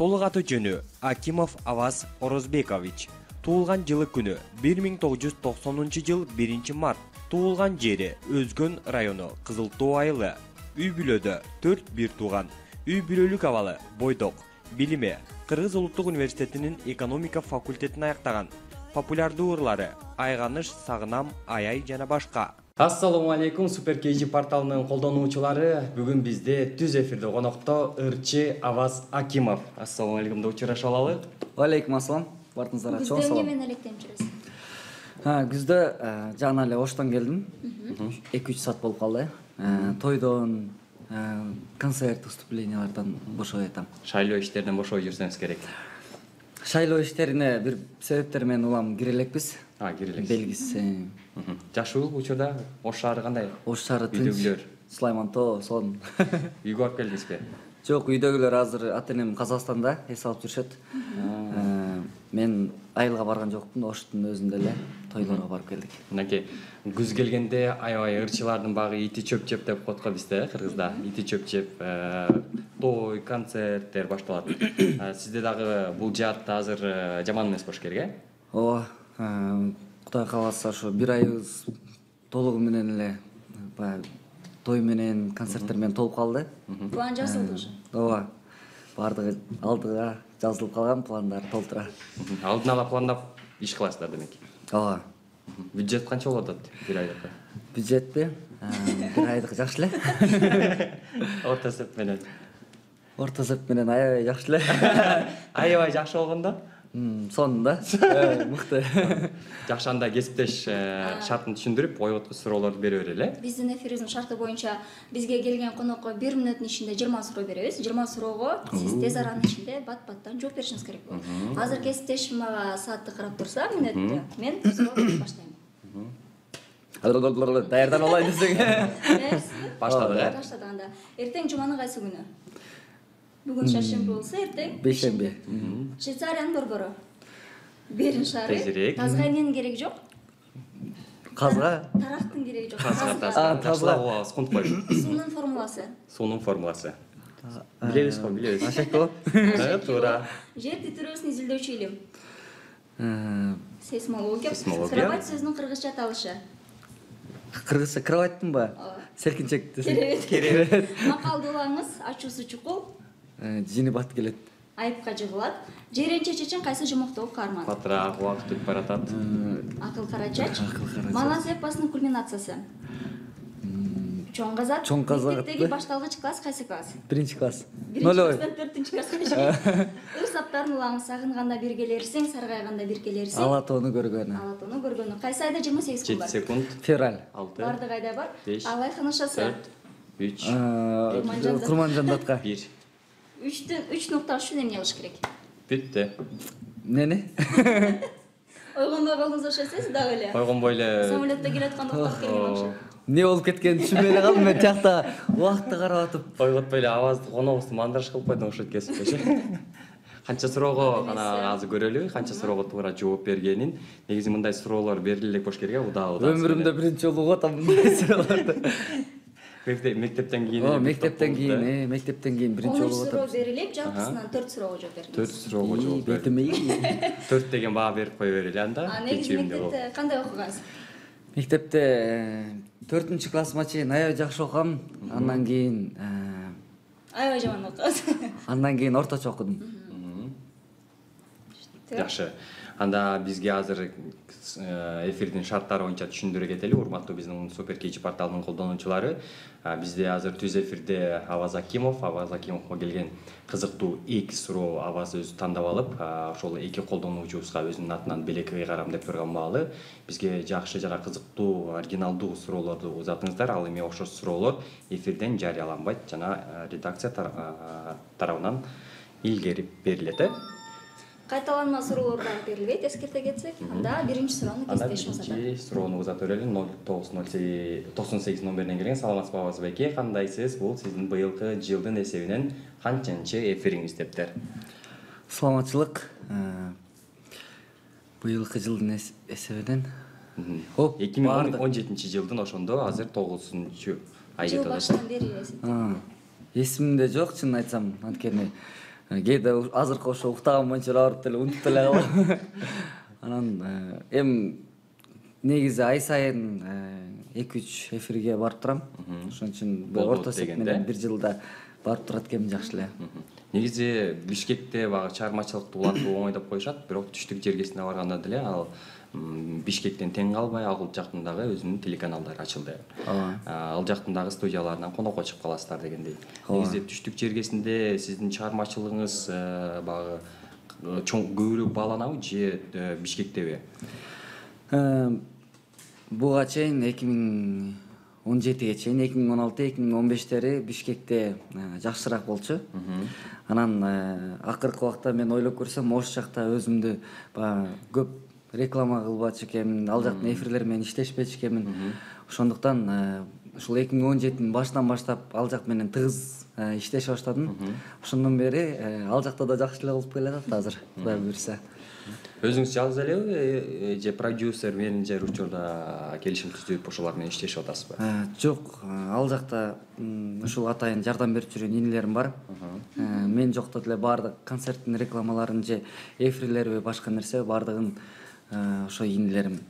Толук аты жөнү Акимов Аваз Орозбекович. Туулган жылы күнү 1990 жыл 1 март. Туулган жери Өзгөн району Кызыл Тоо айылы. Үй бүлөдө 4 бир тууган. Үй бүлөлүк абалы бойдок. Билими Кыргыз улуттук университетинин экономика факультетин аяктаган. Популярдуу ырлары Айганыш, Сагынам, Аяй жана башка. Ассаламу алейкум, Супер KG порталынын колдонуучулары. Бүгүн бизде түз эфирде конокто ырчы Аваз Акимов. Ассаламу алейкум деп учурашып алалы. Алейкум ассалам. Бартыңыздарга чоң салам. Күздө эмне менен электенип жүрөсүз? Күздө жана эле оштон келдим. 2-3 саат болуп калды. Тойдон, концерт, выступлениялардан бошой атам. Шайлоо иштеринен бошой жүрсөңүз керек. Шайлоо иштерине бир себептер менен улам кире элекпиз. Кире элексиз. Белгиси. Жашыл учурда Ош шаары кандай? Ош шаары тынч. Үйдөгүлөр. Сулаймантоо, сон. Үйгө барып келдиңизби? Жок, үйдөгүлөр азыр ата-энем Казакстанда эс алып жүрүшөт. Мен айылга барган жокмун, Оштун өзүндө эле тойлорго барып келдик. Мынакей күз келгенде аябай ырчылардын багы ити чөп жеп деп коет го бизде, Кыргызда. Ити чөп жеп, той, концерттер башталат. Сизде дагы бул жаатта азыр жаман эмес болуш керек, э? Ооба, Кудай кааласа ошо бир айыбыз толугу менен эле баягы той менен, концерттер менен толуп калды. План жазылды уже. Ооба. Бардыгы алдыга жазылып калган, пландар толтура. Алдын ала пландап иш кыласыздар демек. Ооба. Бюджет канча болуп атат бир айдыкы? Бюджетти бир айдыкы жакшы эле. Орто эсеп менен. Орто эсеп менен аябай жакшы эле. Аябай жакшы болгондо? Сонунда. Мыкты. Жакшы, анда кесиптеш шартын түшүндүрүп, коюп суроолорду бере берели, э? Биздин эфирибиздин шарты боюнча бизге келген конокко 1 мүнөттүн ичинде 20 суроо беребиз. 20 суроого сиз тез аранын ичинде бат-баттан жооп беришиңиз керек болот. Азыр кесиптешим мага саатты карап турса, мүнөттү, мен суроо баштайм. Даярдан алайын десең. Баштадык, э? Баштадык анда. Эртең жуманын кайсы күнү? Бүгүн шаршемби болсо, эртең Бейшемби. Швейцариянын борбору. Берин шаары. Тезирээк. Тазга эмненин кереги жок? Казга? Тарактын кереги жок. Тазга. Скунт койуш. Суунун формуласы. Суунун формуласы. Билебиз го, билебиз. Ашекто? Туура. Жер титирөөсүн изилдөөчү илим. Сейсмология. Сейсмология. Кровать сөзүнүн кыргызча аталышы. Кыргызча кроваттынбы? Селкинчек десең. Керебет. Макалдуулаңыз ачуусу чукул. Жини бат келет. Айыпка жыгылат. Жиренче чечен кайсы жумуктогу каарман? Батыраак убакыт өтүп баратат. Акыл карачач. Малаз эпосунун кульминациясы. Чоң казак. Чоң казак. Мектептеги башталгыч класс кайсы класс? 1-класс. 4-класстан 4-класска чейин. Ыр саптарын улаңыз, сагынганда биргелерсиң, саргайганда биргелерсиң. Ала тоону көргөнү. Ала тоону көргөнү. Кайсы айда 28 күн 7 бар? секунд. Февраль. 6. Бардык айда бар. 5, Алайхан ышасы. 4, 3, Курманжандатка. 1. 3 нукта үчүн эмне кылыш керек? Бүттү. Эмнени? Ойгонбой калдыңыз ошосуз дагы эле. Койгонбой эле. Самолетто келатканда уктап келген акча. Не болуп кеткенин түшүнбөй эле калдым мен тиякта убакытты карап атып. Койготпой эле авазды коногубузду мандраж кылып койдуң ошо кесипчи. Канча суроого ана азыр көрөлү, канча суроого туура жооп бергенин. Негизи мындай суроолор бериле элек болуш керек, удаа. Өмүрүмдө биринчи жолу угуп атам мындай суроолорду. Мектептен кийин. Мектептен кийин биринчи 13 жолу угуп суроо атам. берилип, жалпысынан 4 суроого жооп бердиңиз. 4 суроого жооп берди. Бетиме. 4 деген баа берип кое берели анда. Негизи мектепте кандай окугансыз? Мектепте 4-классыма чейин аябай жакшы окугам. Андан кийин Аябай жаман окугансыз. Андан кийин орточо окудум. Жакшы. Анда бизге азыр эфирдин шарттары боюнча түшүндүрө кетели, урматтуу биздин Супер KG порталынын колдонуучулары. Бизде азыр түз эфирде Аваз Акимовго келген кызыктуу 2 суроо Аваз өзү тандап алып, ошол 2 колдонуучубузга өзүнүн атынан белек кыйгарам деп койгон маалы бизге жакшы жана кызыктуу, оригиналдуу суроолорду узатыңыздар. Ал эми ошол суроолор эфирден жарыяланбайт жана редакция тарабынан илгери берилет, э? Кайталанма суроолор дагы берилбейт, эскерте кетсек. Анда биринчи суроону кесиптешим узатат. Биринчи суроону узатып берели. 0908 номеринен келген. Саламатсызбы Аваз байке? Кандайсыз? Бул сиздин быйылкы жылдын эсебинен канчынчы эфириңиз дептер. Саламатчылык. Быйылкы жылдын эсебинен 2017 жылдын ошондо азыр 9-ай жыл өтөт. башынан бери эсептейт. Эсимде жок, чынын айтсам, анткени кээде азыркы ошо уктаган боюнча барып деле унутуп деле калам. Анан эми негизи ай сайын 2-3 эфирге барып турам. Ошон үчүн орто эсеп менен 1 жылда барып турат экенмин жакшы эле. Негизи Бишкекте багы чыгармачылыкты улантуу оңой деп коюшат, бирок түштүк жергесине барганда деле ал Бишкектен тең калбай ал жактын дагы өзүнүн телеканалдары ачылды. Ал жактын дагы студияларынан конокко чыгып каласыздар дегендей. Негизи түштүк жергесинде сиздин чыгармачылыгыңыз багы чоң көбүрөөк бааланабы же Бишкектеби? Буга чейин 2017-ге чейин 2016-2015-тери Бишкекте жакшыраак болчу. Анан акыркы убакта мен ойлоп көрсөм, ош жакта өзүмдү көп реклама кылбачу экенмин, ал жактын эфирлери менен иштешпечү экенмин. Ошондуктан ушул 2017-нин башынан баштап ал жак менен тыгыз иштеше баштадым. Ошондон бери ал жакта да жакшы эле болуп келатат азыр, Кудай буйрса. Өзүңүз жалгыз элеби же продюсер, менеджер учурда келишим түзүп ошолар менен иштешип атасызбы? Жок, ал жакта ушул атайын жардам берип жүргөн инилерим бар. Мен жокто деле баардык концерттин рекламаларын же эфирлерби башка нерсе баардыгын ошо инилерим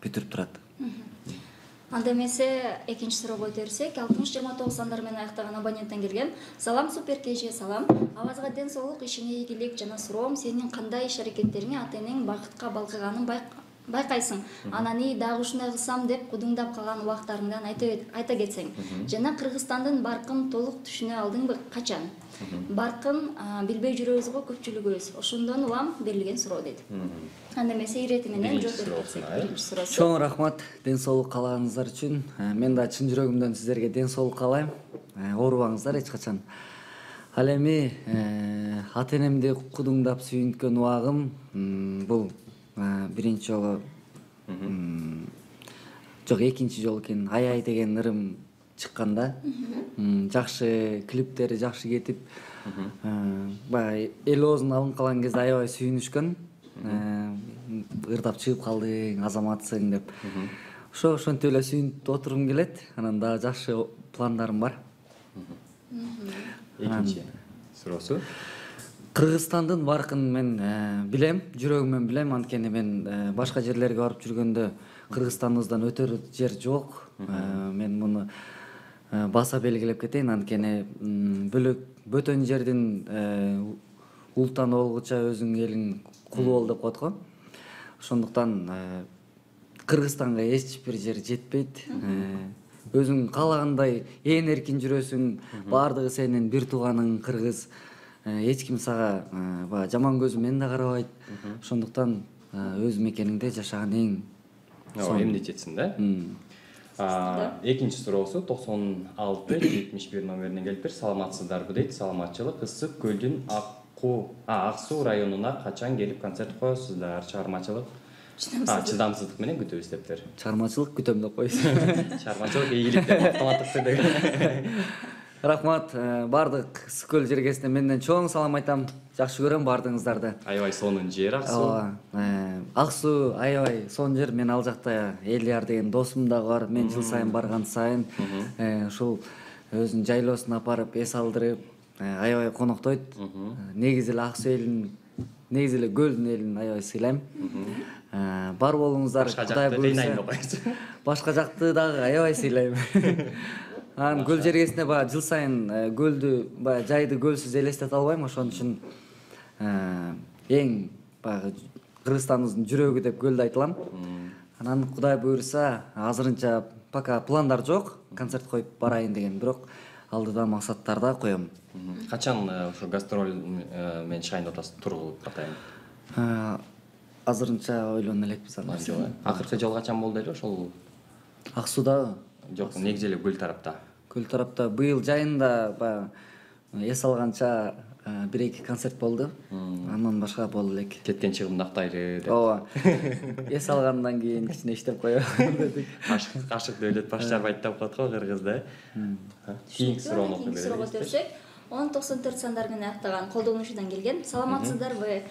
бүтүрүп турат. Анда эмесе экинчи суроого өтө берсек, 60-29 сандар менен аяктаган абоненттен келген. Салам Супер КЖ, салам. Авазга ден соолук, ишиңе ийгилик жана суроом, сенин кандай иш-аракеттериңе ата-энең бакытка балкыганын байкайсың. Анан дагы ушундай кылсам деп кудуңдап калган убактарыңдан айта кетсең. Жана Кыргызстандын баркын толук түшүнө алдыңбы, качан? Баркын билбей жүрөбүз го көпчүлүгүбүз. Ошондон улам берилген суроо дейт. Анда эмесе ирети менен жооп берип кетсек. Биринчи суроосу. Чоң рахмат ден соолук каалагыңыздар үчүн. Мен да чын жүрөгүмдөн сиздерге ден соолук каалайм. Оорубаңыздар эч качан. Ал эми ата-энемди кудуңдап сүйүнткөн убагым бул биринчи жолу жок, экинчи жолу экен. Ай деген ырым чыкканда жакшы клиптери жакшы кетип, баягы эл оозуна алынып калган кезде аябай сүйүнүшкөн. Ырдап чыгып калдың, азаматсың деп. Ошентип эле сүйүнүп отургум келет. Анан дагы жакшы пландарым бар. Экинчи суроосу. Кыргызстандын баркын мен билем, жүрөгүмөн билем, анткени мен башка жерлерге барып жүргөндө Кыргызстаныбыздан өтөр жер жок. Мен муну баса белгилеп кетейин, анткени бөтөн жердин ултан болгуча өзүң элиң кулу бол деп коет го. Ошондуктан Кыргызстанга эч бир жер жетпейт. Өзүң каалагандай ээн эркин жүрөсүң, баардыгы сенин бир тууганың кыргыз. Эч ким сага жаман көзү менен да карабайт. Ошондуктан өз мекениңде жашаган эң эмне жетсин да? Экинчи суроосу 96-71 номеринен келиптир. Саламатсыздарбы дейт. Саламатчылык, ысык көлдүн Ак Суу районуна качан келип концерт коесуздар? Чыгармачылык чыдамсыздык менен күтөбүз дептир. Чыгармачылык күтөм деп коесуз. Чыгармачылык ийгилик деп автоматтык түрдө. Рахмат, бардык Сүкөл жергесине менден чоң салам айтам. Жакшы көрөм баардыгыңыздарды. Аябай сонун жер Ак Суу. Ак Суу аябай сонун жер. Мен ал жакта Элияр деген досум дагы бар. Мен жыл сайын барган сайын ушул өзүнүн жайлоосуна апарып эс алдырып, аябай коноктойт. Негизи эле Ак Суу элин, негизи эле көлдүн элин аябай сыйлайм. Бар болуңуздар, Кудай буйрса. Башка жакты дагы аябай сыйлайм. Анан көл жергесине жыл сайын көлдү жайды көлсүз элестете албайм, ошон үчүн эң Кыргызстандын жүрөгү деп көлдү айтылам. Анан Кудай буйрса, азырынча пока пландар жок, концерт коюп барайын деген, бирок алдыда максаттарда коем. Качан ошо гастроль менен чыгайын деп атасыз, тургулуп атайын? Азырынча ойлоно элекпиз аны. Акыркы жолу качан болду эле ошол? Ак Сууда? Жок, негизи эле көл тарапта. Көл тарапта быйыл жайында эс алганча 1-2 концерт болду. Андан башка болду элек. Кеткен чыгымды актайлы деп. Ооба. Эс алгандан кийин кичине иштеп коелу дедик. Кашык дөөлөт баш жарбайт деп коет го кыргызда. Кийинки суроону окуп берсек. 1094 сандар менен аяктаган колдонуучудан келген. Саламатсыздарбы?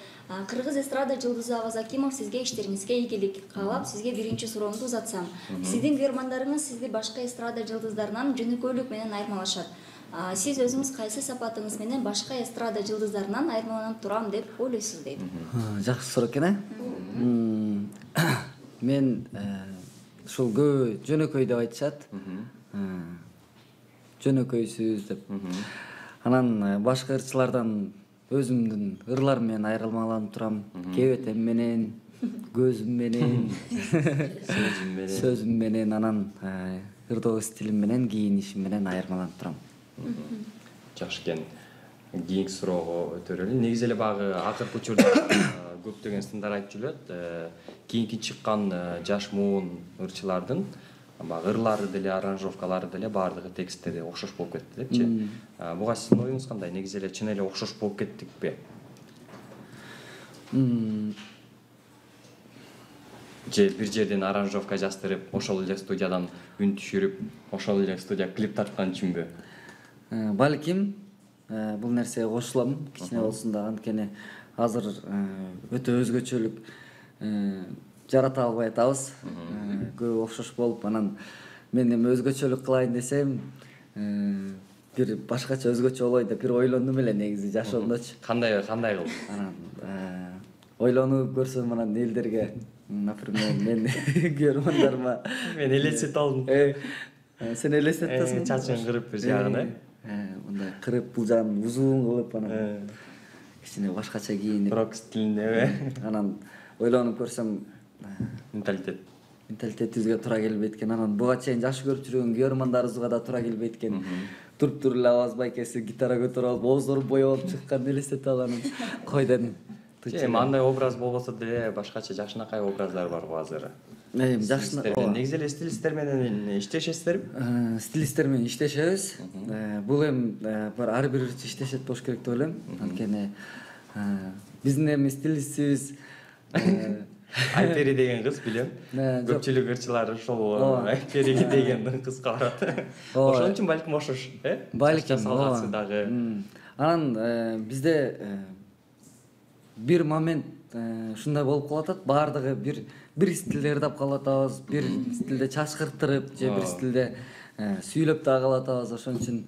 Кыргыз эстрада жылдызы Аваз Акимов сизге иштериңизге ийгилик каалап, сизге биринчи суроомду узатсам. Сиздин көрмандарыңыз сизди башка эстрада жылдыздарынан жөнөкөйлүк менен айырмалашат. Сиз өзүңүз кайсы сапатыңыз менен башка эстрада жылдыздарынан айырмаланып турам деп ойлойсуз дейт. Жакшы суроо экен, мен ушул көбү жөнөкөй деп айтышат. Жөнөкөйсүз деп. Анан башка ырчылардан өзүмдүн ырларым менен айырмаланып турам. Кебетем менен, көзүм менен, сөзүм менен, анан ырдоо стилим менен, кийинишим менен айырмаланып турам. Жакшы экен. Кийинки суроого өтөрөлү. Негизи эле багы акыркы учурда көптөгөн сындар айтып жүрөт. Кийинки чыккан жаш муун ырчылардын баягы ырлары деле, аранжировкалары деле баардыгы тексттери окшош болуп кетти депчи. Буга сиздин оюңуз кандай? Негизи эле чын эле окшош болуп кеттикпи? Же бир жерден аранжировка жаздырып, ошол эле студиядан үн түшүрүп, ошол эле студия клип тарткан үчүнбү? Балким бул нерсеге кошулам, кичине болсун да, анткени азыр өтө өзгөчөлүк жарата албай атабыз. Көп окшош болуп, анан мен эми өзгөчөлүк кылайын десем, бир башкача өзгөчө болой деп бир ойлондум эле негизи жашоомдочу. Кандай кылдың? Анан ойлонуп көрсөм, анан элдерге, например, мен көрөрмандарыма Мен элестетип алдым. Сен элестетип атасың? Чачын кырып бир жагын, мындай кырып, бул жагын узун кылып, анан кичине башкача кийинип, рок стилинде, анан ойлонуп көрсөм, менталитетибизге туура келбейт экен. Анан буга чейин жакшы көрүп жүргөн көрөрмандарыбызга да туура келбейт экен. Туруп эле аваз байкеси гитара көтөрүп алып, ооздору боёп чыккан элестетип алам. Кой дедим. Эми андай образ болбосо деле башкача жакшынакай образдар бар го азыр. Негизи эле стилисттер менен иштешесиздерби? Стилисттер менен иштешебиз. Бул эми ар бир ырчы иштешет болуш керек деп ойлойм. Анткени биздин эми стилистибиз Айпери деген кыз билем. Көпчүлүк ырчылар ошол Айпери деген кызга барат. Ошон үчүн балким окшош, Балким дагы. Анан бизде бир момент ушундай болуп калатат, баардыгы бир стилде ырдап калатабыз, бир стилде чачкыртырып же бир стилде сүйлөп дагы калатабыз. Ошон үчүн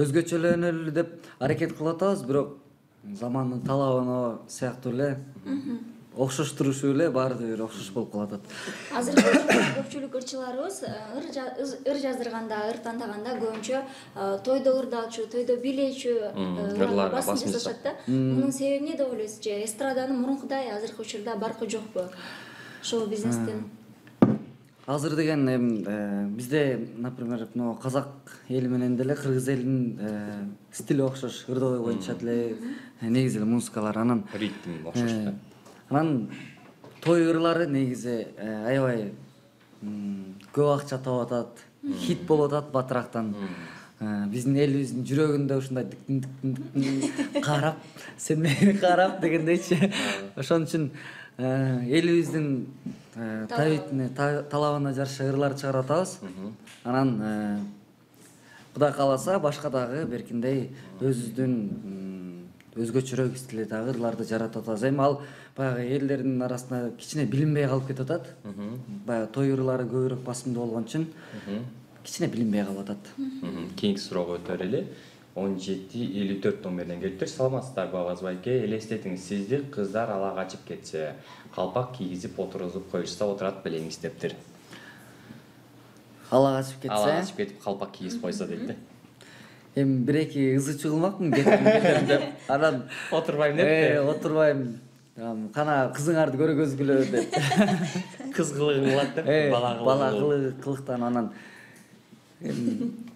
өзгөчөлөнөлү деп аракет кылып атабыз, бирок замандын талабына сыяктуу эле окшоштурушуу эле баардыгы бир окшош болуп калатат. Азыр көпчүлүк ырчыларыбыз ыр жаздырганда, ыр тандаганда көбүнчө тойдо ырдалчу, тойдо бийлечү ырларга басым жасашат да. Мунун себеби эмне деп ойлойсуз? Же эстраданын мурункудай азыркы учурда баркы жокпу? Шоу-бизнестин? Азыр деген эми бизде, например, казак эли менен деле кыргыз элинин стили окшош, ырдоо боюнча деле негизи эле музыкалар, анан ритм окшош да. Анан той ырлары негизи аябай көп акча таап атат, хит болуп атат батырактан. Биздин элибиздин жүрөгүндө ушундай карап, сен мени карап дегендейчи. Ошон үчүн элибиздин талабына жараша ырлар чыгарып атабыз. Анан Кудай кааласа башка дагы беркиндей өзүбүздүн өзгөчөрөөк стилде дагы ырларды жаратып атабыз. Эми ал баягы элдердин арасында кичине билинбей калып кетип атат. Баягы той ырлары көбүрөөк басымдуу болгон үчүн кичине билинбей калып атат. Кийинки суроого өтөлү. 1754 номеринен келиптир. Саламатсыздарбы Аваз байке? Элестетиңиз, сизди кыздар ала качып кетсе, калпак кийгизип отургузуп коюшса отурат белеңиз дептир. Ала качып кетсе? Ала качып кетип калпак кийгизип койсо дейт да. Эми бир-эки ызы чыгылмакмын кетем деп. Анан отурбайм деп. Отурбайм. Кана кызыңарды көргөзгүлө деп. Кыз кылыгы кылат деп. Бала кылыктан анан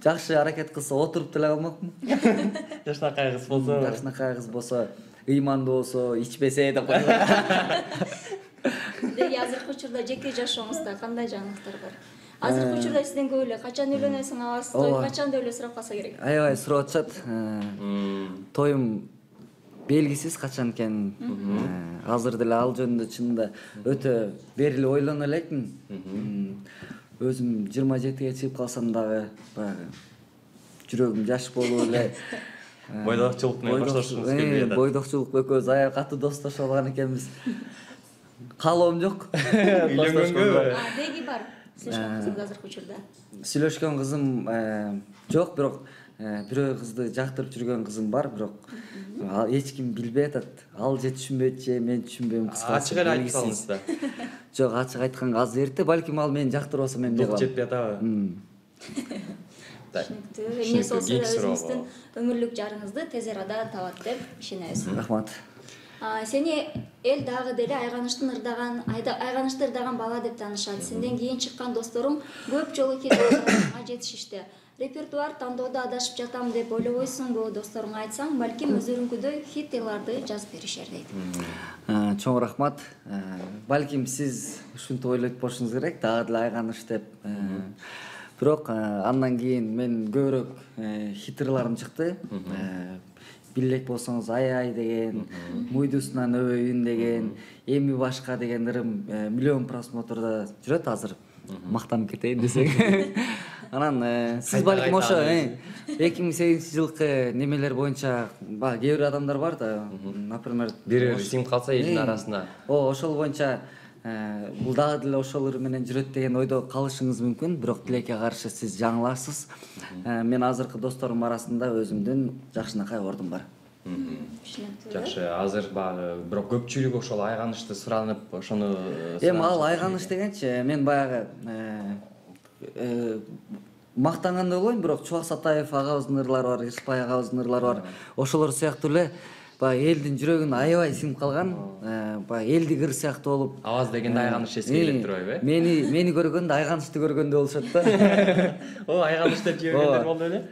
жакшы аракет кылса отуруп деле калмакмын. Жакшынакай кыз болсо. Жакшынакай кыз болсо, ыймандуу болсо, ичпесе деп койсо. Деги азыркы учурда жеке жашооңузда кандай жаңылыктар бар? Азыркы учурда сизден көп эле качан үйлөнөсүң, абасы той качан деп эле сурап калса керек. Аябай сурап атышат. Тоюм белгисиз качан экенин. Азыр деле ал жөнүндө чынында өтө бери эле ойлоно элекмин. Өзүм 27-ге чыгып калсам дагы баягы жүрөгүм жаш болуп эле бойдокчулук менен коштошкубуз келбей атат. Бойдокчулук экөөбүз аябай катуу достошуп алган экенбиз. Каалоом жок. Үйлөнгөнгө? Деги бар. Сүйлөшкөн кызыңыз азыркы учурда? Сүйлөшкөн кызым жок, бирок бирөө кызды жактырып жүргөн кызым бар, бирок эч ким билбей атат. Ал же түшүнбөйт же мен түшүнбөйм, кыскасы. Ачык эле айтып салыңыз да. Жок, ачык айтканга азыр эрте, балким ал мени жактырбаса мен эмне Дук кылам? жетпей атабы? Түшүнүктүү. Эмне болсо да өзүңүздүн өмүрлүк жарыңызды тез арада табат деп ишенебиз. Рахмат. Сени эл дагы деле айганычты ырдаган бала деп таанышат. Сенден кийин чыккан досторуң көп жолу хит жетишишти. Репертуар тандоодо адашып жатам деп ойлобойсуңбу? Досторуңа айтсаң, балким өздөрүңкүдөй хиттейларды жазып беришер дейт. Чоң рахмат. Балким сиз ушинтип ойлойт болушуңуз керек, дагы деле айганыч деп. Бирок андан кийин мен көбүрөөк хиттерларым чыкты. Билек болсоңуз ай деген, муйдусунан өбөйүн деген, эми башка деген ырым миллион просмотрда жүрөт азыр. Мактанып кетейин десең. Анан сиз балким ошо 2008-жылкы немелер боюнча кээ бир адамдар бар да, например, Бир сиңип калса элдин арасына. Ошол боюнча бул дагы деле ошол ырым менен жүрөт деген ойдо калышыңыз мүмкүн, бирок тилекке каршы сиз жаңыласыз. Мен азыркы досторум арасында өзүмдүн жакшынакай ордум бар. Жакшы, азыр багы бирок көпчүлүк ошол айганычты суранып, ошону Ал айганыч дегенчи, мен баягы мактангандай болбойм, бирок Чубак Сатаев агабыздын ырлары бар, Ишпай агабыздын ырлары бар. Ошолор сыяктуу эле баягы элдин жүрөгүнө аябай сиңип калган, баягы элдик ыр сыяктуу болуп. Аваз дегенде айганыч эске келип турбайбы? Мени көргөндө айганычты көргөндөй болушат да. Айганыч деп жибергендер болду эле?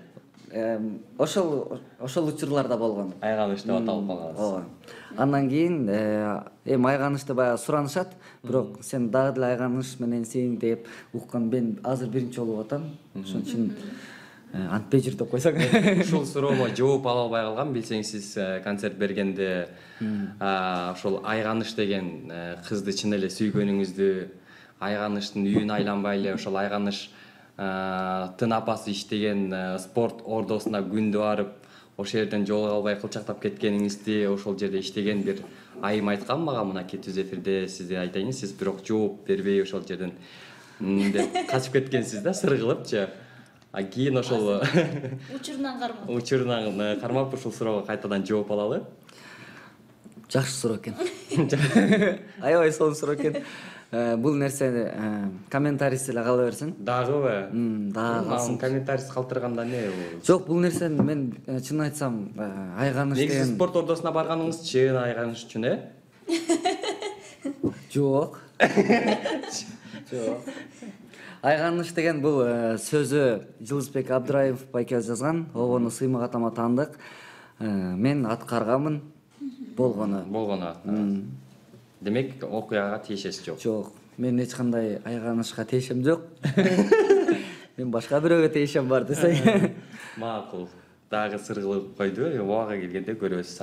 Ошол учурларда болгон. Айганыч деп аталып калганбыз. Андан кийин айганычты баягы суранышат, бирок сен дагы деле айганыч менен сен деп уккан мен азыр биринчи жолу атам. Ошон үчүн антпей жүр деп койсоң. Ушул суроомо жооп ала албай калгам, билсеңиз сиз концерт бергенде ошол айганыч деген кызды чын эле сүйгөнүңүздү, айганычтын үйүн айланбай эле ошол айганыч тын апасы иштеген спорт ордосуна күндү барып, ошол жерден жолуга албай кылчактап кеткениңизди, ошол жерде иштеген бир айым айткан мага мынакей түз эфирде сизге айтайын, сиз бирок жооп бербей ошол жерден деп качып кеткенсиз да, сыр кылыпчы. Кийин ошол учурунан кармап ушул суроого кайтадан жооп алалы. Жакшы суроо экен. Аябай сонун суроо экен. Бул нерсени комментарийси эле кала берсин. Дагыбы? Дагы калсын. Комментарийси калтырганда эмне бул? Жок, бул нерсени мен чын айтсам айганыч деген. Негизи спорт ордосуна барганыңыз чын айганыч үчүн, Жок. Жок. Айганыч деген бул сөзү Жылысбек Абдыраев байке жазган. Обону сыймак атама таандык. Мен аткарганмын болгону. Демек, окуяга тиешеси жок. Жок, мен эч кандай айганычка тиешем жок. Мен башка бирөөгө тиешем бар десең. Макул. Дагы сыр кылып койду. Убага келгенде көрөбүз.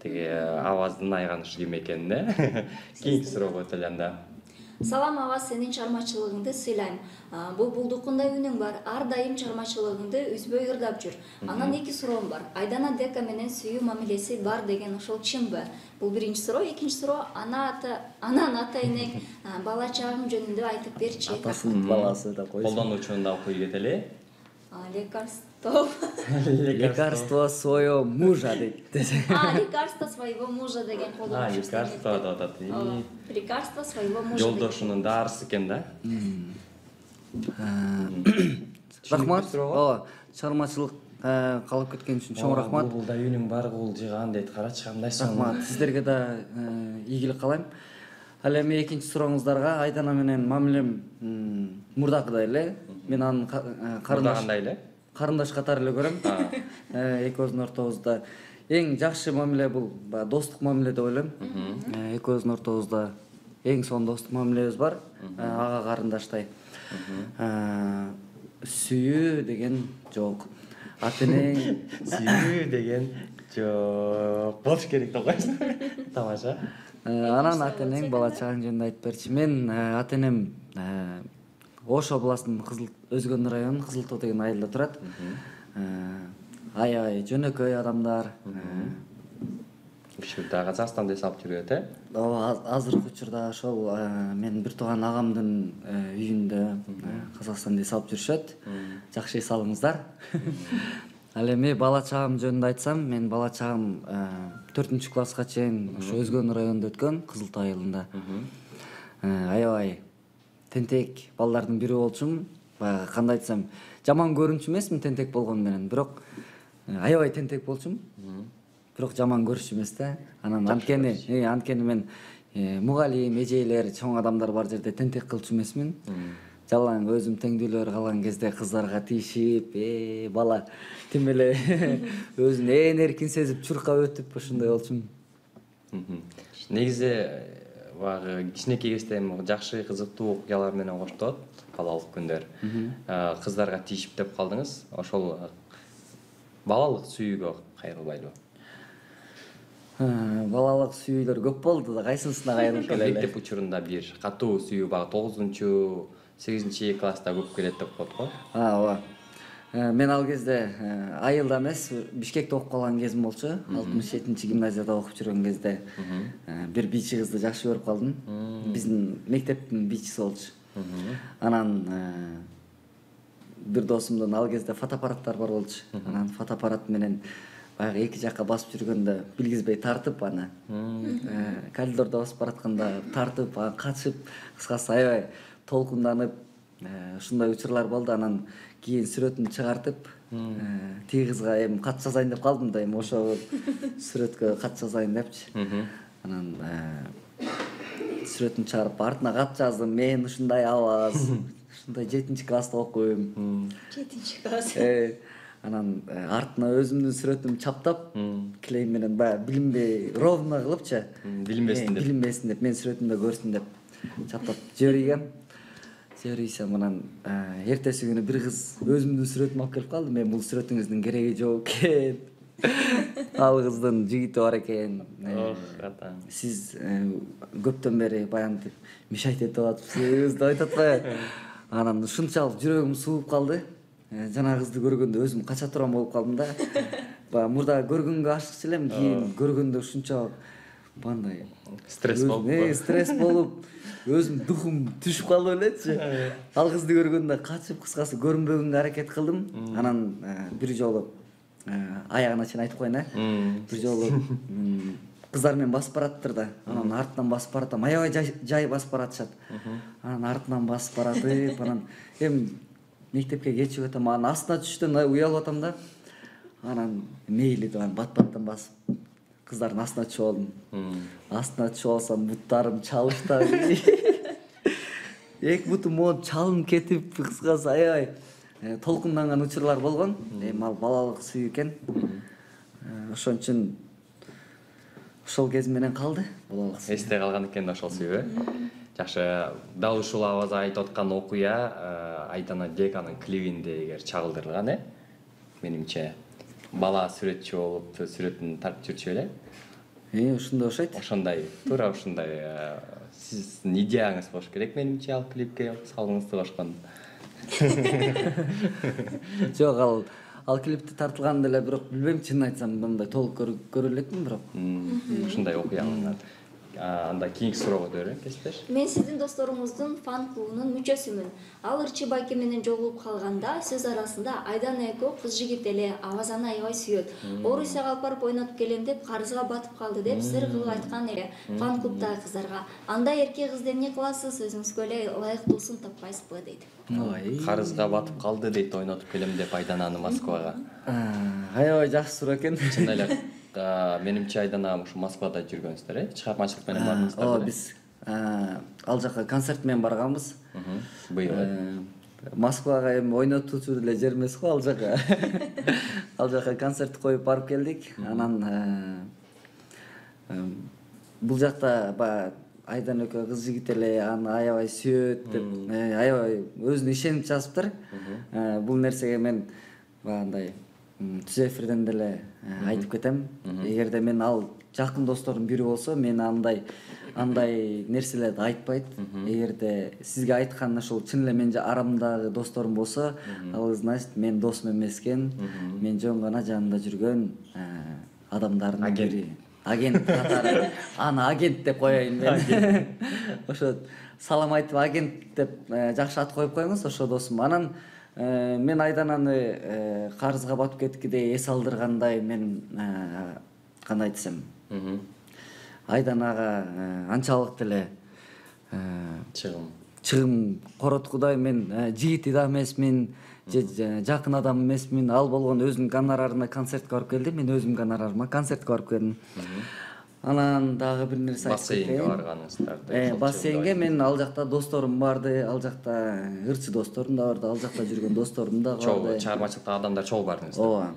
Теги аваздын айганышы ким экенин, кийинки суроого өтөлү анда. Салам Аваз, сенин чыгармачылыгыңды сыйлайм. Бул булдукундай үнүң бар. Ар дайым чыгармачылыгыңды үзбөй ырдап жүр. Анан эки суроом бар. Айдана Дека менен сүйүү мамилеси бар деген ошол чынбы? Бул биринчи суроо. Экинчи суроо, анан ата энең бала чагың жөнүндө айтып берчи. Атасынын баласы да койсун. Колдонуучуну да окуй кетели. Лекарство своего мужа дейт. Лекарство своего мужа деген колдонуучу. Лекарство деп атат. Лекарство своего мужа. Жолдошунун дарысы экен да. Рахмат. Чыгармачылык калып кеткен үчүн чоң рахмат. Бул да үнүң бар, кул жыган дейт. Карачы кандай сонун. Рахмат. Сиздерге да ийгилик каалайм. Ал эми экинчи сурооңуздарга Айдана менен мамилем мурдакыдай эле. Мен анын карындаш катары эле көрөм. Экөөбүздүн ортобузда эң жакшы мамиле бул достук мамиле деп ойлойм. Экөөбүздүн ортобузда эң сонун достук мамилебиз бар. Ага карындаштай. Сүйүү деген жок. Ата энең сүйүү деген жок. Болуш керек деп койсуң. Тамаша. Анан ата энең бала чагың жөнүндө айтып берчи. Мен ата энем Ош областынын Өзгөн районунун Кызылтоо деген айылда турат. Аябай жөнөкөй адамдар. Учурда Казакстанда эсап жүрөт, Ооба, азыркы учурда ошол мен бир тууган агамдын үйүндө Казакстанда эсап жүрүшөт. Жакшы эс алыңыздар. Ал эми бала чагым жөнүндө айтсам, мен бала чагым 4-класска чейин ошо Өзгөн районунда өткөн, Кызыл Тоо айылында. Аябай тентек балдардын бири болчумун. Баягы кандай айтсам, жаман көрүнчү эмесмин тентек болгону менен, бирок аябай тентек болчумун. Бирок жаман көрүшү эмес да. Анан анткени мен мугалим, эжейлер, чоң адамдар бар жерде тентек кылчу эмесмин. Жалаң өзүм теңдүүлөр калган кезде кыздарга тийишип, бала тим эле өзүн эркин сезип чуркап өтүп ошондой болчумун. Негизи баягы кичинекей кезде жакшы кызыктуу окуялар менен коштолот балалык күндөр. Кыздарга тийишип деп калдыңыз. Ошол балалык сүйүүгө кайрылбайлыбы? Балалык сүйүүлөр көп болду да, кайсынысына кайрылып келели? Мектеп учурунда бир катуу сүйүү багы 9-8 класста көп келет деп коет го. Ооба. Мен ал кезде айылда эмес, Бишкекте окуп калган кезим болчу. 67-гимназияда окуп жүргөн кезде бир бийчи кызды жакшы көрүп калдым. Биздин мектептин бийчиси болчу. Анан бир досумдун ал кезде фотоаппараттар бар болчу. Анан фотоаппарат менен баягы эки жакка басып жүргөндө билгизбей тартып, аны коридордо басып баратканда тартып, качып, кыскасы аябай толкунданып, ушундай учурлар болду. Анан кийин сүрөтүн чыгартып, тиги кызга эми кат жазайын деп калдым да, эми ошол сүрөткө кат жазайын депчи. Анан сүрөтүн чыгарып артына кат жаздым. Мен ушундай абаз, ушундай 7-класста окуйм. 7-класс. Анан артына өзүмдүн сүрөтүмдү чаптап, клей менен баягы билинбей ровно кылыпчы. Билинбесин деп, мен сүрөтүмдө көрсүн деп чаптап жибергем. Жиберсем, анан эртеси күнү бир кыз өзүмдүн сүрөтүмдү алып келип калды. Мен бул сүрөтүңүздүн кереги жок экен. Ал кыздын жигити бар экен. Сиз көптөн бери баягы мешать этип атыпсыз деп айтат атпайбы? Анан ушунчалык жүрөгүм сууп калды. Жана кызды көргөндө өзүм кача турам болуп калдым да. Баягы мурда көргөнгө ашыкчу элем, кийин көргөндө ушунчалык бандай стресс болуп, стресс болуп, өзүм духум түшүп калып элечи. Ал кызды көргөндө качып, кыскасы көрүнбөгөнгө аракет кылдым. Анан бир жолу аягына чейин айтып коеюн, бир жолу кыздар менен басып бараттыр да. Анан артынан басып баратам, аябай жай басып баратышат. Анан артынан басып баратып, анан эми мектепке кечигип атам, анан астына түштөн уялып атам да. Анан мейли деп бат-баттан басып кыздардын астына түшүп алдым. Астына түшүп алсам, буттарым чалыштап. Эки бутум монт чалынып кетип, кыскасы аябай толкунданган учурлар болгон. Эми ал балалык сүйүү экен. Ошон үчүн ошол кез менен калды балалык сүйүү. Эсте калган экен да ошол сүйүү. Жакшы. Дал ушул абаз айтып аткан окуя Айдана Деканын клибинде эгер чагылдырылган, менимче бала сүрөтчү болуп, сүрөтүн тартып жүрчү эле. Ушундай окшойт. Ошондой, туура ушундай сиздин идеяңыз болуш керек, менимче, ал клипке салгыңызды кошкон. Жок, ал клипти тартылганда эле, бирок билбейм, чынын айтсам, мындай толук көрө элекмин, бирок ушундай окуя алынган. Анда кийинки суроого өтөрөйүн, кесиптеш. Мен сиздин досторуңуздун фан клубунун мүчөсүмүн. Ал Ырчы байке менен жолугуп калганда сөз арасында Айдана экөө кыз жигит эле Авазаны аябай сүйөт. Орусияга алып барып ойнотуп келем деп карызга батып калды деп сыр кылып айткан эле фан клубдагы кыздарга. Андай эрке кызды эмне кыласыз, өзүңүзгө эле ылайыктуусун таппайсызбы дейт. Карызга батып калды дейт, ойнотуп келем деп Айдананы Москвага. Аябай жакшы суроо экен. Чын эле. Менимче Айдана ушу Москвада жүргөнсүздөр, чыгармачылык менен бардыңыздар. Ооба, биз ал жака концерт менен барганбыз. Быйыл. Москвага эми ойнотуучу деле жер эмес го ал жака. Ал жака концерт коюп барып келдик. Анан бул жакта баягы Айдан экөө кыз жигит эле аны аябай сүйөт деп, аябай өзүнө ишенип жазыптыр. Бул нерсеге мен баягындай түз эфирден деле айтып кетем. Эгерде мен ал жакын достордун бири болсо, мен андай нерселерди айтпайт. Эгерде сизге айткан ошол чын эле мен арамдагы досторум болсо, ал значит мен досум эмес экен. Мен жөн гана жанында жүргөн адамдардын бири. Агент катары. Аны агент деп коеюн мен. Ошо салам айтып агент деп жакшы ат коюп коюңуз, ошо досум. Анан Мен Айдананы карызга батып кеткидей эс алдыргандай мен кандай десем, Айданага анчалык деле чыгым короткудай мен жигити да эмесмин, же жакын адам эмесмин. Ал болгондо өзүнүн гонорарына концертке барып келди, мен өзүмдүн гонорарыма концертке барып келдим. Анан дагы бир нерсе айтып кетейин. Бассейнге барганыңыздар. Бассейнге мен ал жакта досторум барды, ал жакта ырчы досторум да барды, ал жакта жүргөн досторум да барды. Чыгармачылыкта адамдар чогуу бардыңыздар. Ооба.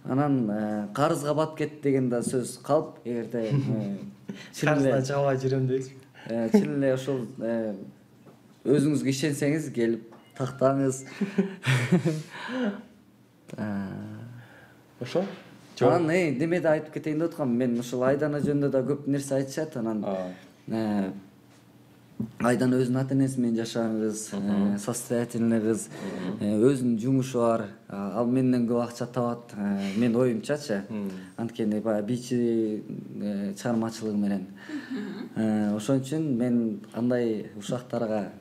Анан карызга батып кетти деген да сөз калп, эгерде Карыздан чыга албай жүрөм дейсизби? чын эле ошол өзүңүзгө ишенсеңиз келип тактаңыз. Ошо? Анан немеде айтып кетейин деп аткам. Мен ушул Айдана жөнүндө да көп нерсе айтышат. Анан Айдана өзүнүн ата энеси менен жашаган кыз, состоятельный кыз, өзүнүн жумушу бар. Ал менден көп акча табат. Мен оюмчачы. Анткени баягы бийчи чыгармачылыгы менен. Ошон үчүн мен андай ушактарга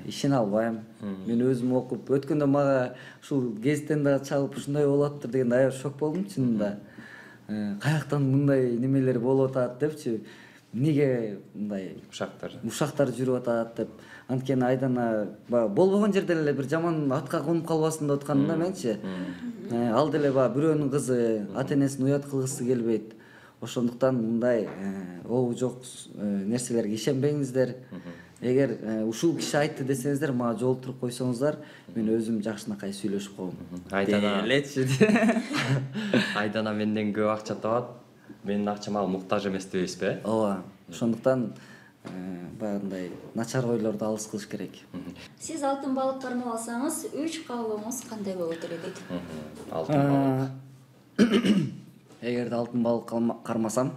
ишене албайм. Мен өзүм окуп өткөндө мага ушул гезиттен дагы чалып ушундай болуптур дегенде аябай шок болдум чынында. Каяктан мындай немелер болуп атат депчи. Эмнеге мындай ушактар жүрүп атат деп. Анткени Айдана болбогон жерден эле бир жаман атка конуп калбасын деп атканым да менчи. Ал деле бирөөнүн кызы, ата энесин уят кылгысы келбейт. Ошондуктан мындай обу жок нерселерге ишенбеңиздер. Эгер ушул киши айтты десеңиздер, мага жолтуруп койсоңуздар, мен өзүм жакшынакай сүйлөшүп койгом. Айдана менден көп акча табат. Менин акчама муктаж эмес дебейсизби? Ооба. Ошондуктан баягындай начар ойлорду алыс кылыш керек. Сиз алтын балык кармап алсаңыз, 3 каалооңуз кандай болот эле дейт? Алтын балык. Эгерде алтын балык кармасам,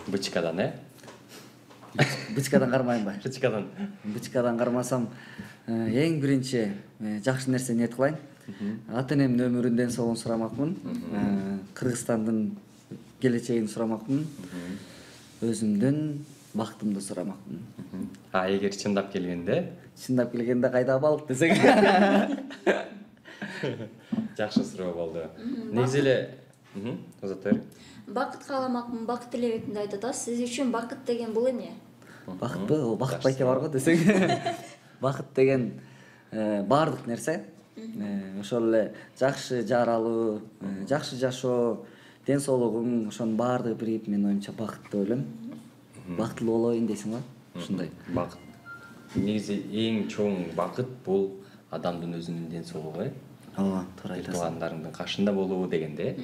бычкадан, бычкадан кармайм ба? Бычкадан кармасам, эң биринчи жакшы нерсе ниет кылайын. Ата энемдин өмүрүн, ден соолугун сурамакмын. Кыргызстандын келечегин сурамакмын. Өзүмдүн бактымды сурамакмын. Эгер чындап келгенде кайда балык десең. Жакшы суроо болду. Негизи эле узатыр. Бакыт кааламакмын, бакыт тилебекмин деп айтат. Сиз үчүн бакыт деген бул эмне? Бакытпы? Ол бакыт байке бар го десең. Бакыт деген баардык нерсе. Ошол эле жакшы жар алуу, жакшы жашоо, ден соолугуң, ошонун баардыгы бирип менин оюмча бакыт деп ойлойм. Бактылуу болоюн дейсиң ба? Ушундай. Бакыт. Негизи эң чоң бакыт бул адамдын өзүнүн ден соолугу. Ооба, туура айтасың. Туугандарыңдын кашында болуу дегенде.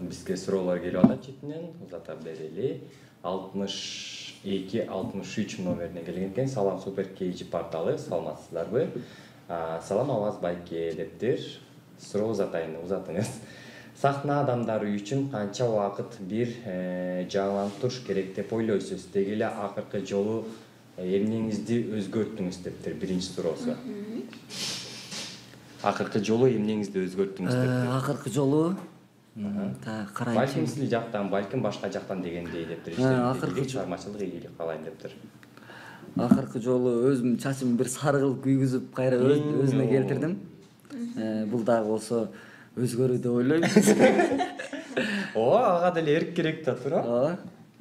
Бизге суроолор келип атат четинен, узата берели. 62-63 номерине келген экен. Салам Супер KG порталы, саламатсыздарбы? Салам Аваз байке дептир. Суроо узатыңыз. Сахна адамдары үчүн канча убакыт бир жаңыланып туруш керек деп ойлойсуз? Деги эле акыркы жолу эмнеңизди өзгөрттүңүз дептир биринчи суроосу. Акыркы жолу эмнеңизди өзгөрттүңүз дептир. Акыркы жолу карайчы. Балким сиз жактан, балким башка жактан дегендей дептир. Акыркы чыгармачылык ийгилик калайын дептир. Акыркы жолу өзүмдүн чачымды бир сары кылып күйгүзүп кайра өзүнө келтирдим. Бул дагы болсо өзгөрүү деп ойлойм. Ага деле эрк керек да, туура? Ооба.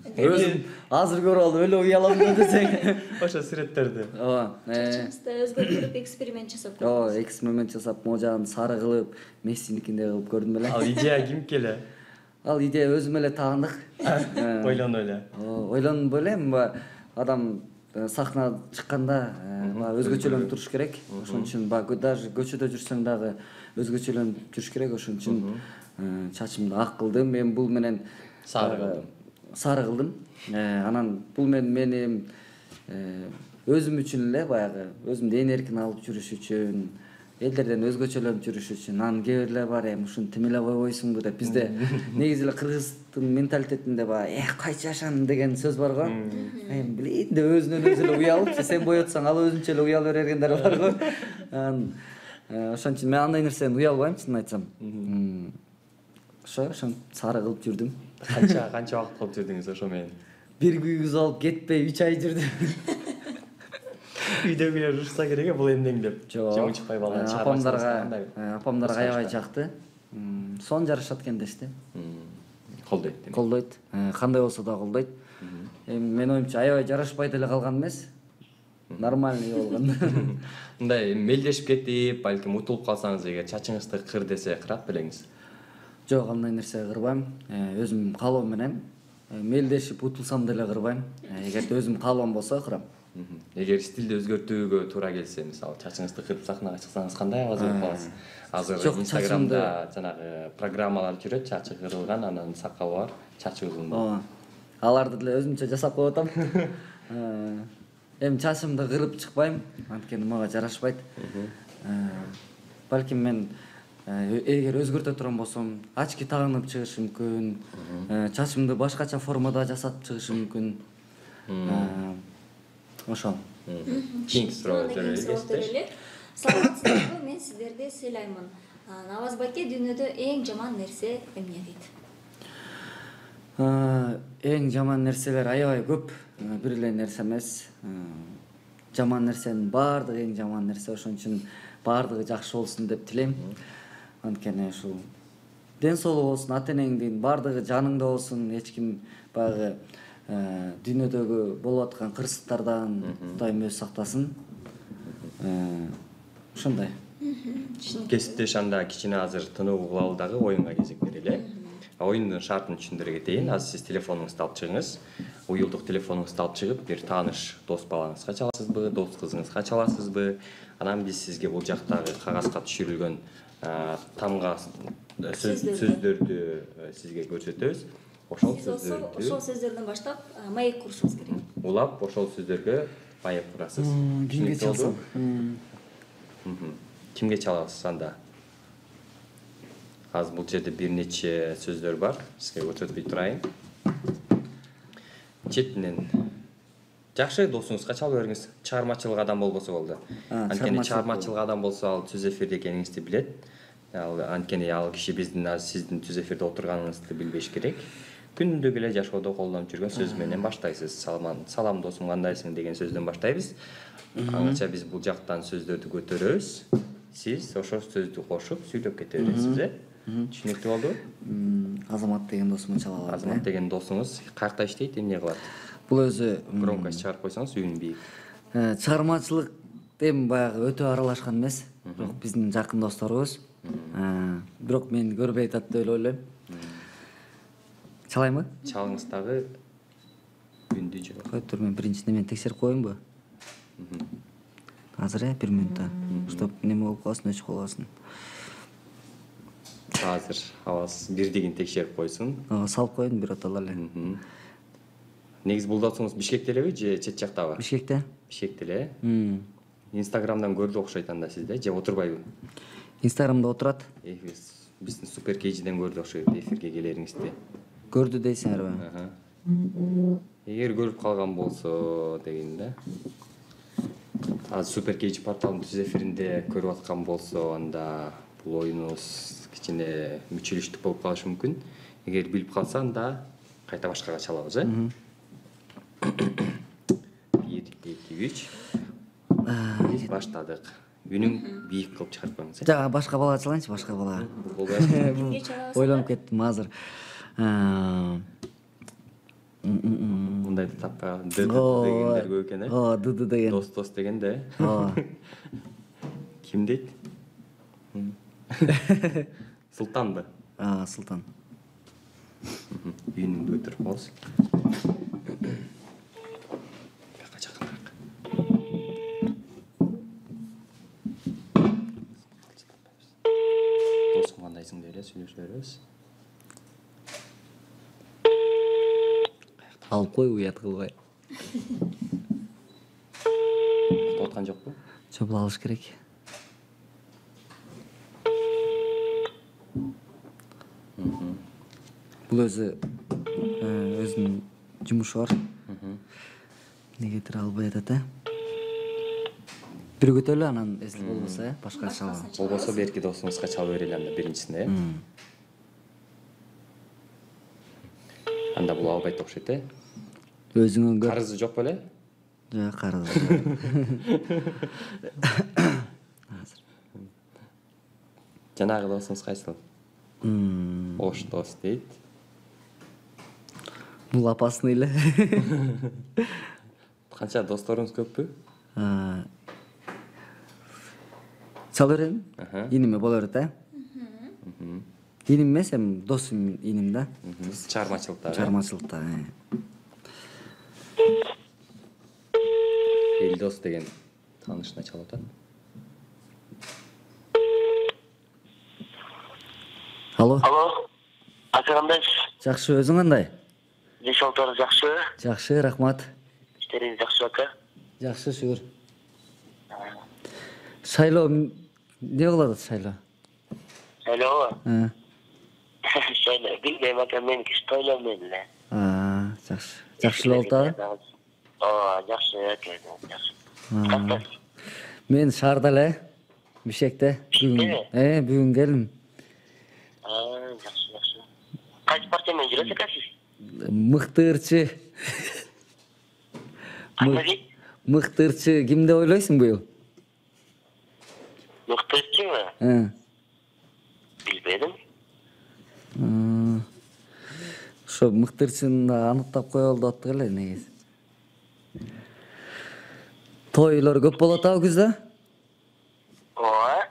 Өзүм азыр көрүп алып өлө уялам десең. Ошо сүрөттөрдү. Ооба. Чачыңызды өзгөртүп эксперимент жасап көрдүңүз. Ооба, эксперимент жасап, могу жагын сары кылып, Мессиникиндей кылып көрдүм эле. Ал идея кимки эле? Ал идея өзүм эле тагындык. Ойлонуп эле. Ойлонуп элем, адам сахна чыкканда өзгөчөлөнүп туруш керек. Ошон үчүн даже көчөдө жүрсөң дагы өзгөчөлөнүп жүрүш керек. Ошон үчүн чачымды ак кылдым. Мен бул менен сары кылдым. Анан бул менин өзүм үчүн эле баягы өзүмдү энеркин алып жүрүш үчүн, элдерден өзгөчөлөнүп жүрүш үчүн. Анан кээ бирлер бар, ушуну тим эле койбойсуңбу деп. Бизде негизи эле кыргыздын менталитетинде кайчы жашан деген сөз бар го. Билейин деп өзүнөн өзү эле уялып, сен боетсаң ал өзүнчө эле уяла бергендер бар го. Ошон үчүн мен андай нерседен уялбайм, чынын айтсам. Ошон сары кылып жүрдүм. Канча убакыт кылып жүрдүңүз ошо менен? Бир күйгүзүп алып кетпей 3 ай жүрдүм. Үйдөгүлөр урушса керек бул эмнең деп. Жок. Чыкпай баланы чыгармасыңыз. Апамдарга аябай жакты. Сон жарышат экен дешти. Колдойт. Колдойт. Кандай болсо да колдойт. Эми менин оюмча аябай жарашпай деле калган эмес. Нормальный болгон. Мындай мелдешип кетип, балким утулуп калсаңыз эгер чачыңызды кыр десе кырат белеңиз. Жок, андай нерсе кырбайм. Өзүм каалоом менен мелдешип утулсам деле кырбайм. Эгерде өзүм каалоом болсо кырам. Эгер стилди өзгөртүүгө туура келсе, мисалы чачыңызды кырып сахнага чыксаңыз кандай абаз болуп каласыз? Азыр Инстаграмда жанагы программалар жүрөт, чачы кырылган, анан сакалы бар, чачы узун. Ооба. Аларды деле өзүмчө жасап коюп атам. Эми чачымды кырып чыкпайм, анткени мага жарашпайт. Балким мен эгер өзгөртө турган болсом, очки тагынып чыгышым мүмкүн. Чачымды башкача формада жасап чыгышым мүмкүн. Ошол. Кийинки суроо эле. Саламатсыздарбы? Мен сиздерди сыйлаймын. Наваз байке, дүйнөдө эң жаман нерсе эмне дейт? Эң жаман нерселер аябай көп. Бир эле нерсе эмес. Жаман нерсенин баардыгы эң жаман нерсе, ошон үчүн баардыгы жакшы болсун деп тилейм. Анткени ушул ден соолук болсун, ата-энеңдин баардыгы жаныңда болсун, эч ким баягы дүйнөдөгү болуп аткан кырсыктардан Кудайым өзү сактасын. Ошондой. Кесиптеш анда кичине азыр тынуу кылалы дагы оюнга кезек берели. Оюндун шартын түшүндүрө кетейин. Азыр сиз телефонуңузду алып чыгыңыз. Уюлдук телефонуңузду алып чыгып, бир тааныш дос балаңызга чаласызбы, дос кызыңызга чаласызбы? Анан биз сизге бул жактагы кагазга түшүрүлгөн тамга сөздөрдү сизге көрсөтөбүз. Ошол сөздөрдөн баштап маек курушуңуз керек. Улап, ошол сөздөргө маек курасыз. Кимге чалсам? Кимге чаласыз анда? Азыр бул жерде бир нече сөздөр бар. Сизге көрсөтпөй турайын. Четинен жакшы досуңузга чалып бериңиз. Чыгармачылык адам болбосо болду. Анткени чыгармачылык адам болсо ал түз эфирде экениңизди билет. Анткени ал киши биздин сиздин түз эфирде отурганыңызды билбеш керек. Күндүгү эле жашоодо колдонуп жүргөн сөз менен баштайсыз. Салам досум, кандайсың деген сөздөн баштайбыз. Аңча биз бул жактан сөздөрдү көтөрөбүз. Сиз ошол сөздү кошуп сүйлөп кете бересиз. Түшүнүктүү болду? Азамат деген досумун чала алат. Азамат деген досуңуз каякта иштейт, эмне кылат? Бул өзү Громкость чыгарып койсоңуз үнү бийик. Чыгармачылык эми баягы өтө аралашкан эмес. Бирок биздин жакын досторубуз. Бирок мени көрбөй атат деп эле ойлойм. Чалаймбы? Чалыңыз дагы үндү жок. Кой тур, мен биринчиден мен текшерип коеюнбу? Азыр 1 минутта. Чтоб неме болуп калсын, өчүп калбасын. Азыр аваз бирдигин текшерип койсун. Салып коеюн бир отала эле. Негизи бул досуңуз Бишкекте элеби же чет жактабы? Бишкекте. Бишкекте эле. Инстаграмдан көрдү окшойт анда сизде, же отурбайбы? Инстаграмда отурат. Биздин Супер Кейжиден көрдү окшойт эфирге келериңизди. Көрдү дейсиңерби? Эгер көрүп калган болсо деген да. Азыр Супер Кейжи порталынын түз эфиринде көрүп аткан болсо, анда бул оюнубуз кичине мүчүлүштүк болуп калышы мүмкүн. Эгер билип калса, анда кайта башкага чалабыз, 1, 2, 3. Биз баштадык. Үнүң бийик кылып чыгарып коюңуз. Жага башка балага чалайынчы, башка бала. Ойлонуп кеттим азыр. Мындай тапка дегендер көп экен, Д деген. Дос деген да. Ким дейт? Султанбы? Султан. Үйүнүңдү өтүрүп коебуз. Бияка жакыныраак. Досум кандайсың деп эле сүйлөшө беребиз. Алып кой, уят кылбай. Уктап аткан жокпу? Жок, бул алыш керек. Бул өзүнүн жумушу бар. Негетир албай атат, Биргөтөлү, анан эсил болбосо, башка чалабы. Болбосо берки досуңузга чалып берели анда биринчисине. Анда бул албайт окшойт, Өзүңөн көр. Карызы жок беле? Жок, карыз. Жанагы досуңуз кайсыл? Ош дос дейт. Бул опасный эле. Канча досторуңуз көппү? Чала берем. Иниме боло берет, Иним эмес, эми досум иним да. Чыгармачылыкта. Чыгармачылыкта. Элдос деген таанышына чалып атат. Алло. Алло. Ата кандайсыз? Жакшы, өзүң кандай? Дешалтар жакшы. Жакшы, рахмат. Иштериңиз жакшы ака? Жакшы, шүгүр. Шайлоо эмне кылып атат Шайлоо? Шайлообу? Шайлоо билбейм ака, меники тойлоо менен эле. Жакшы. Жакшы эле болуп атабы? Ооба, жакшы ака, жакшы. Мен шаарда эле, Бишкекте. Бүгүн келдим. Жакшы, жакшы. Кайсы партия менен жүрөсүз ака сиз? Мыктырчы. Мыктырчы ким деп ойлойсуң быйыл? Мыктырчыбы? Билбедим. Ошо мыктырчыны аныктап коелу деп аттык эле негизи. Тойлор көп болот атабы күздө? Ооба.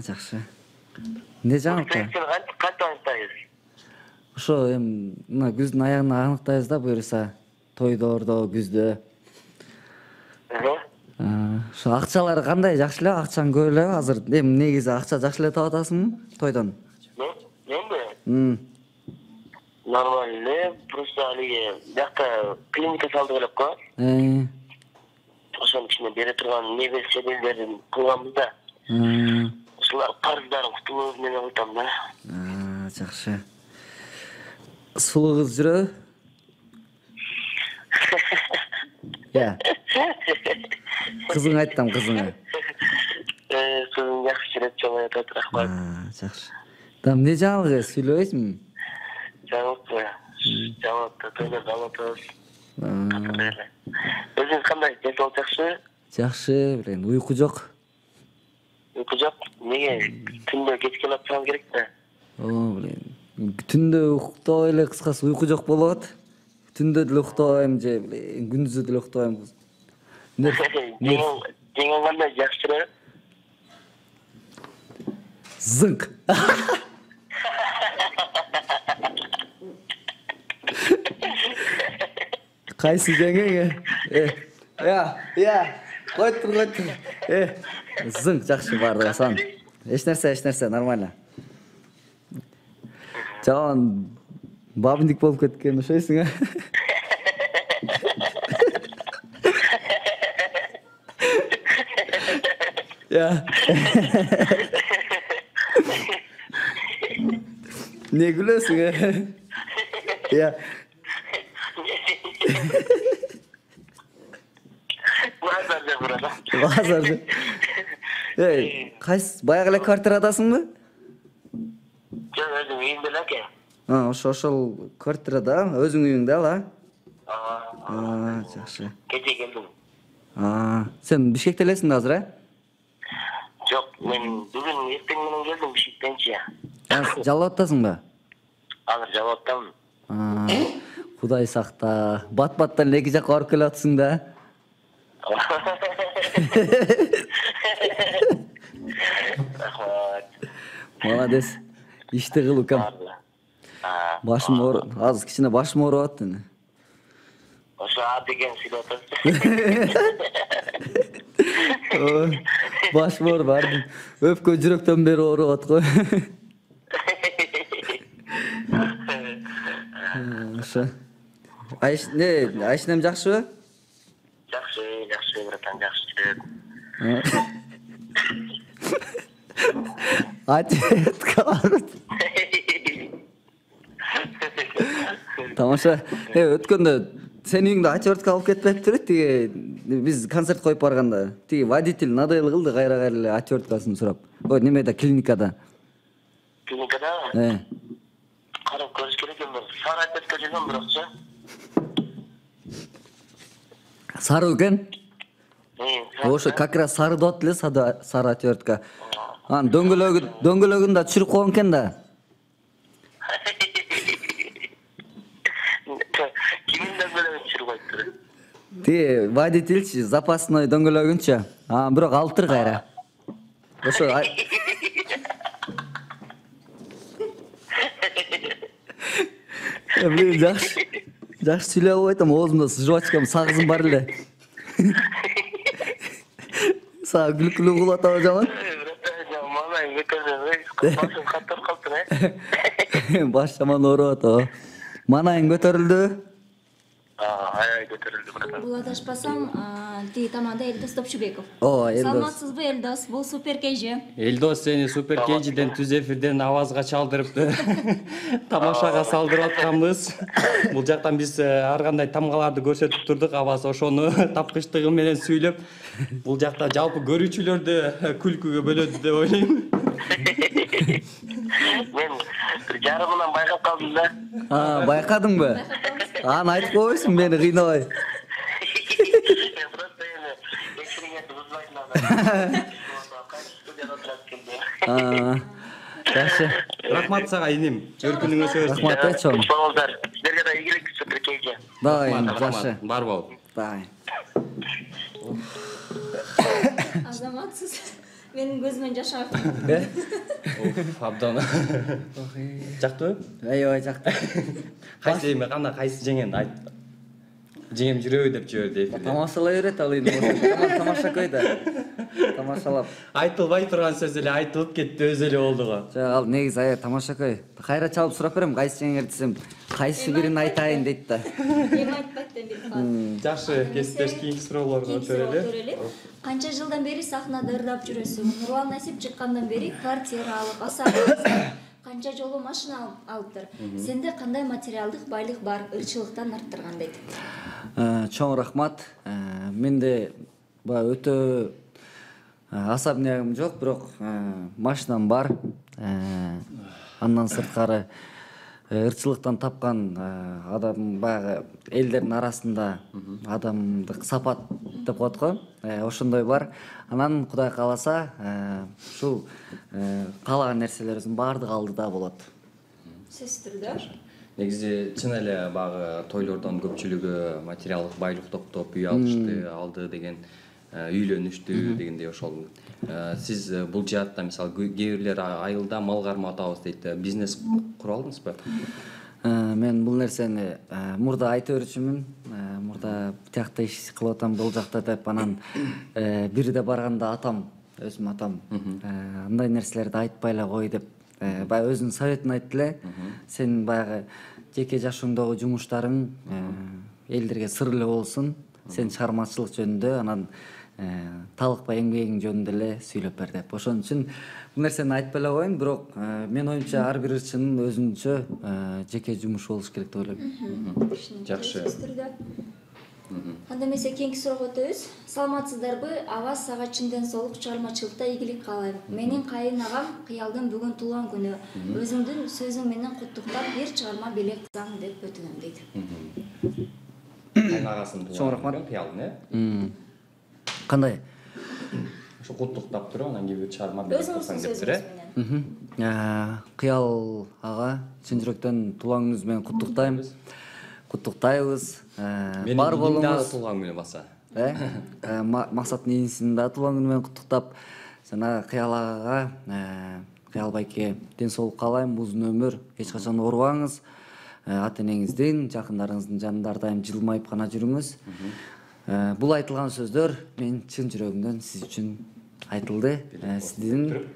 Жакшы. Эмне жаңылыкта? Кантип аныктайсыз? Ошо эми мына күздүн аягына аныктайбыз да, буюрса. Тойдордо, күздө. Ошо акчалар кандай, жакшы эле, акчаң көп элеби азыр? Эми негизи акча жакшы эле таап атасыңбы тойдон? Менби? Нормально эле, просто алиги биякта клиника салдык элек го. Ошонун ичине бере турган небе себелдерин кылганбыз да. Ушулар карыздарын кутулуу менен айтам да. Жакшы. Сулуу кыз жүрөбү? Кызың айттым, кызыңа. Кызым жакшы жүрөт, чоң айтат, рахмат. Жакшы. Эмне жаңылык, сүйлөбөйсүңбү? Жаңылыкпы? Жаңылыкты тойлорду алып атабыз. Өзүңүз кандай, денсаулык жакшы? Жакшы, билем, уйку жок. Уйку жок? Неге? Түндө кечке жатсам керек да. Билем. Түндө уктабай эле, кыскасы уйку жок болот. Түндө деле уктабайм же, күндүзү деле уктабайм. Жеңең кандай, жакшыры? Зыңк. Кайсы жеңең? Койтур. Зыңк жакшы баардыгы сан. Эч нерсе, нормально. Жаман бабындык болуп кеткен ошойсуң, Не күлөсүң, Базарды. Кайсы баягы эле квартирадасыңбы? Жок, өзүм үйүмдө эле аке. Ошол квартирада, өзүң үйүңдө ал, жакшы. Кече келдим. Сен Бишкекте элесиң да азыр, Жок, мен бүгүн эртең менен келдим Бишкектенчи. Жалап атасыңбы? Азыр жалап атам. Кудай сакта. Бат-баттан эки жакка барып келе атсың да. Рахмат. Молодец. Ишти кыл укам. Башым ооруп, азыр кичине башым ооруп атты. Ошо деген сүйлөп атасыз. Башым ооруп бардым. Өпкө жүрөктөн бери ооруп аткой. Ошо. Айшынем жакшыбы? Жакшы, братан, жакшы. Атетка барып. Тамаша. Өткөндө сенин үйүңдө отвертка алып кетпептир, тиги биз концерт коюп барганда. Тиги водитель надоел кылды, кайра эле отверткасын сурап. Ой, немеде, клиникада. Клиникада? Карап көрүш керек эми. Сары отвертка жүргөн бирокчу. Сары экен. Ошо как раз сары деп эле, сары отвертка. Анын дөңгөлөгүн да түшүрүп койгон экен да. Кимин дөңгөлөгүн түшүрүп коюптур? Ти водительчи запасной дөңгөлөгүнчү. Бирок алтыр кайра. Ошо мен жакшы сүйлөп албай атам, оозумда жвачкам сагызым бар эле. Сага күлкүлүү кылып атабы жаман? Манайың көтөрүлдү. Башым каттырып калыптыр, Баш жаман ооруп атабы. Манайың көтөрүлдү? Аябай көтөрүлдү братан. Бул адашпасам, тиги таманда Элдос Топчубеков. Элдос. Саламатсызбы, Элдос? Бул Супер KG. Элдос сени Супер KG'ден түз эфирден авазга чалдырыптыр. Тамашага салдырып атканбыз. Бул жактан биз ар кандай тамгаларды көрсөтүп турдук, Аваз ошону тапкычтыгы менен сүйлөп, бул жакта жалпы көрүүчүлөрдү күлкүгө бөлөдү деп ойлойм. Мен жарымынан байкап калдым да. Байкадыңбы? Аны айтып койбойсуң, мени кыйнабай. Просто эми экспериментти бузбайсың анда. Кайсы студияда отурат экен. Жакшы. Рахмат сага иним. Өркүнүңүз өссүн. Рахмат чоң. Соңуңуздар. Силерге да ийгилик, Супер KG. Давай, жакшы. Бар бол. Давай. Азаматсыз. Менин көзүмөн жаш агып. Абдан. Жактыбы? Аябай жакты. Кайсы эми кандай кайсы жеңенди айт. Жеңем жүрөбү деп жиберди эфирде. Тамашалай берет ал эми. Тамаша койду. Тамашалап. Айтылбай турган сөз эле айтылып кетти, өзү эле болду го. Жок, ал негизи аябай тамашакай. Кайра чалып сурап берем, кайсы жеңер десем, кайсы бирин айтайын дейт да. Эми айтпайт да бир. Жакшы, кесиптеш кийинки суроолорго өтөлү. Канча жылдан бери сахнада ырдап жүрөсүң? Нурлан Насип чыккандан бери квартира алып, асабыңыз канча жолу машина алыптыр. Сенде кандай материалдык байлык бар, ырчылыктан арттырган дейт. Чоң рахмат. Менде өтө особнягым жок, бирок машинам бар. Андан сырткары ырчылыктан тапкан адам баягы элдердин арасында адамдык сапат деп коет го. Ошондой бар. Анан Кудай кааласа, ушул каалаган нерселерибиздин баардыгы алдыда болот. Сөзсүз түрдө. Негизи чын эле баягы тойлордон көпчүлүгү материалдык байлык топтоп үй алышты, алды деген, үйлөнүштү дегендей ошол. Сиз бул жаатта мисалы кээ бирлер айылда мал кармап атабыз дейт. Бизнес кура алдыңызбы? Мен бул нерсени мурда айта берчүмүн. Мурда тиякта иш кылып атам, бул жакта деп, анан бирде барганда атам, өзүм атам, андай нерселерди айтпай эле кой деп, баягы өзүнүн советин айтты эле. Сен баягы жеке жашооңдогу жумуштарың элдерге сыр эле болсун. Сен чыгармачылык жөнүндө, анан талыкпай эмгегиң жөнүндө эле сүйлөп бер деп. Ошон үчүн бул нерсени айтпай эле коеюн, бирок мен оюмча ар бир ырчынын өзүнчө жеке жумушу болуш керек деп ойлойм. Жакшы. Анда эмесе кийинки суроого өтөбүз. Саламатсыздарбы? Аваз сага чынден соолук чыгармачылыкта ийгилик каалайм. Менин кайын агам Кыялдын бүгүн туулган күнү. Өзүңдүн сөзүң менен куттуктап бир чыгарма белек кылсаң деп өтүнөм дейт. Кайын агасынын Чоң рахмат. Кыялдын, Кандай? Ошо куттуктап туруп, анан кийин бир чыгарма белек кылсаң Өзүңүздүн дептир, сөзүңүз менен. Кыял ага чын жүрөктөн туулган күнүңүз менен куттуктайм. Куттуктайбыз. Бар болуңуз. Туулган күнү баса. Максаттын инисинин да туулган күнү менен куттуктап, жана Кыял агага, Кыял байке ден соолук каалайм, узун өмүр, эч качан оорубаңыз. Ата энеңиздин, жакындарыңыздын жанында ар дайым жылмайып гана жүрүңүз. Бул айтылган сөздөр мен чын жүрөгүмдөн сиз үчүн айтылды. Сиздин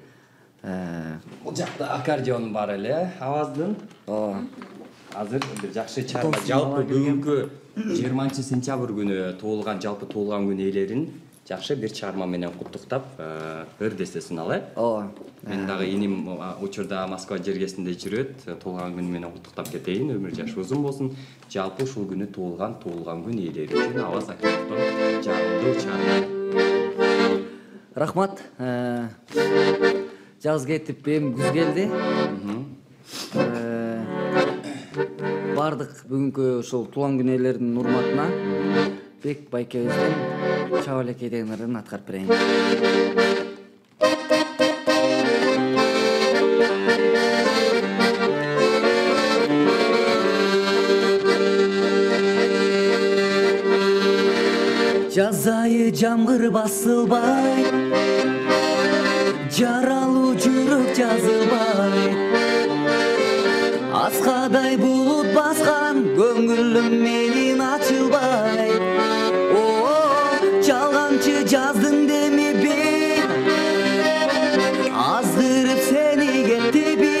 Бул жакта аккордеон бар эле, Аваздын. Азыр бир жакшы чыгарма. Жалпы бүгүнкү 20-сентябрь күнү жалпы туулган күн ээлерин жакшы бир чыгарма менен куттуктап, ырдесе сыналай. Мен дагы иним учурда Москва жергесинде жүрөт, туулган күнү менен куттуктап кетейин, өмүр жашы узун болсун. Жалпы ушул күнү туулган күн ээлери үчүн Аваз Акимовдон жарымдуу чыгарма. Рахмат. Жаз кетип, эми күз келди. Бардык бүгүнкү ошол туулган күн ээлеринин урматына өзбек байкебиздин чаба элекей деген ырын аткарып берейин. Жаз айы жамгыр басылбай, жаралуу жүрөк жазылбай, аскадай булут баскан көңүлүм менин ачылбай. Жалганчы жаздын деми бир аздырып сени кеттиби,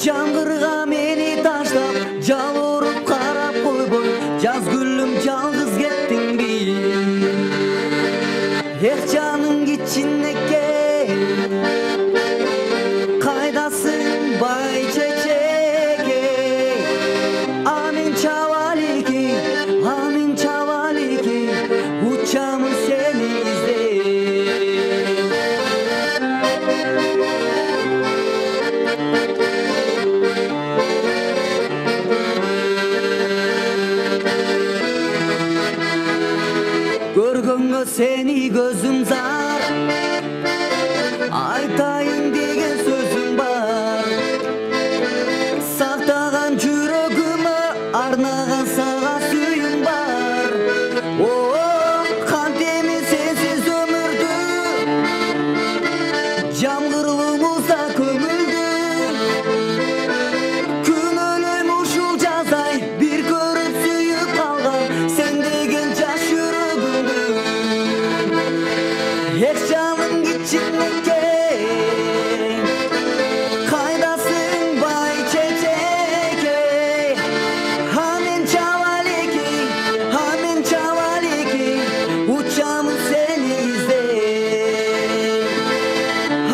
жамгырга мени таштап жалоруп карап койбой, жаз гүлүм жалгыз кеттиңби? Эх жаным кичинекей, кайдасың бай чечекей? Амин чабалики, амин чабалики, учамын сени издей. Көргөнгө сени көзүм зар, айтайын деген сөзүм бар. Сактаган жүрөгүмө арнаган сага сүйүм бар. Кантеми сенсиз өмүрдү, жамгырлуу музда көмүлдү. Күнөөлөйм ушул жаздай бир көрүп сүйүп калган сен деген жаш жүрөгүмдү. Эх жаным кичинекей, кайдасың бай чечекей? Амин чабалики, амин чабалики, учамын сени издей.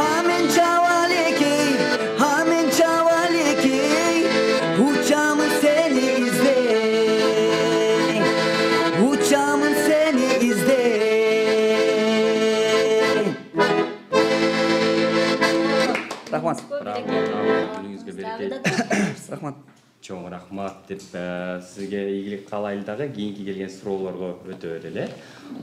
Амин чабалики, амин чабалики, учамын сени издей. Учамын сени издей. Рахмат. Күнүңүзгө береке. Рахмат. Чоң рахмат деп сизге ийгилик каалайлы дагы. Кийинки келген суроолорго өтө берели.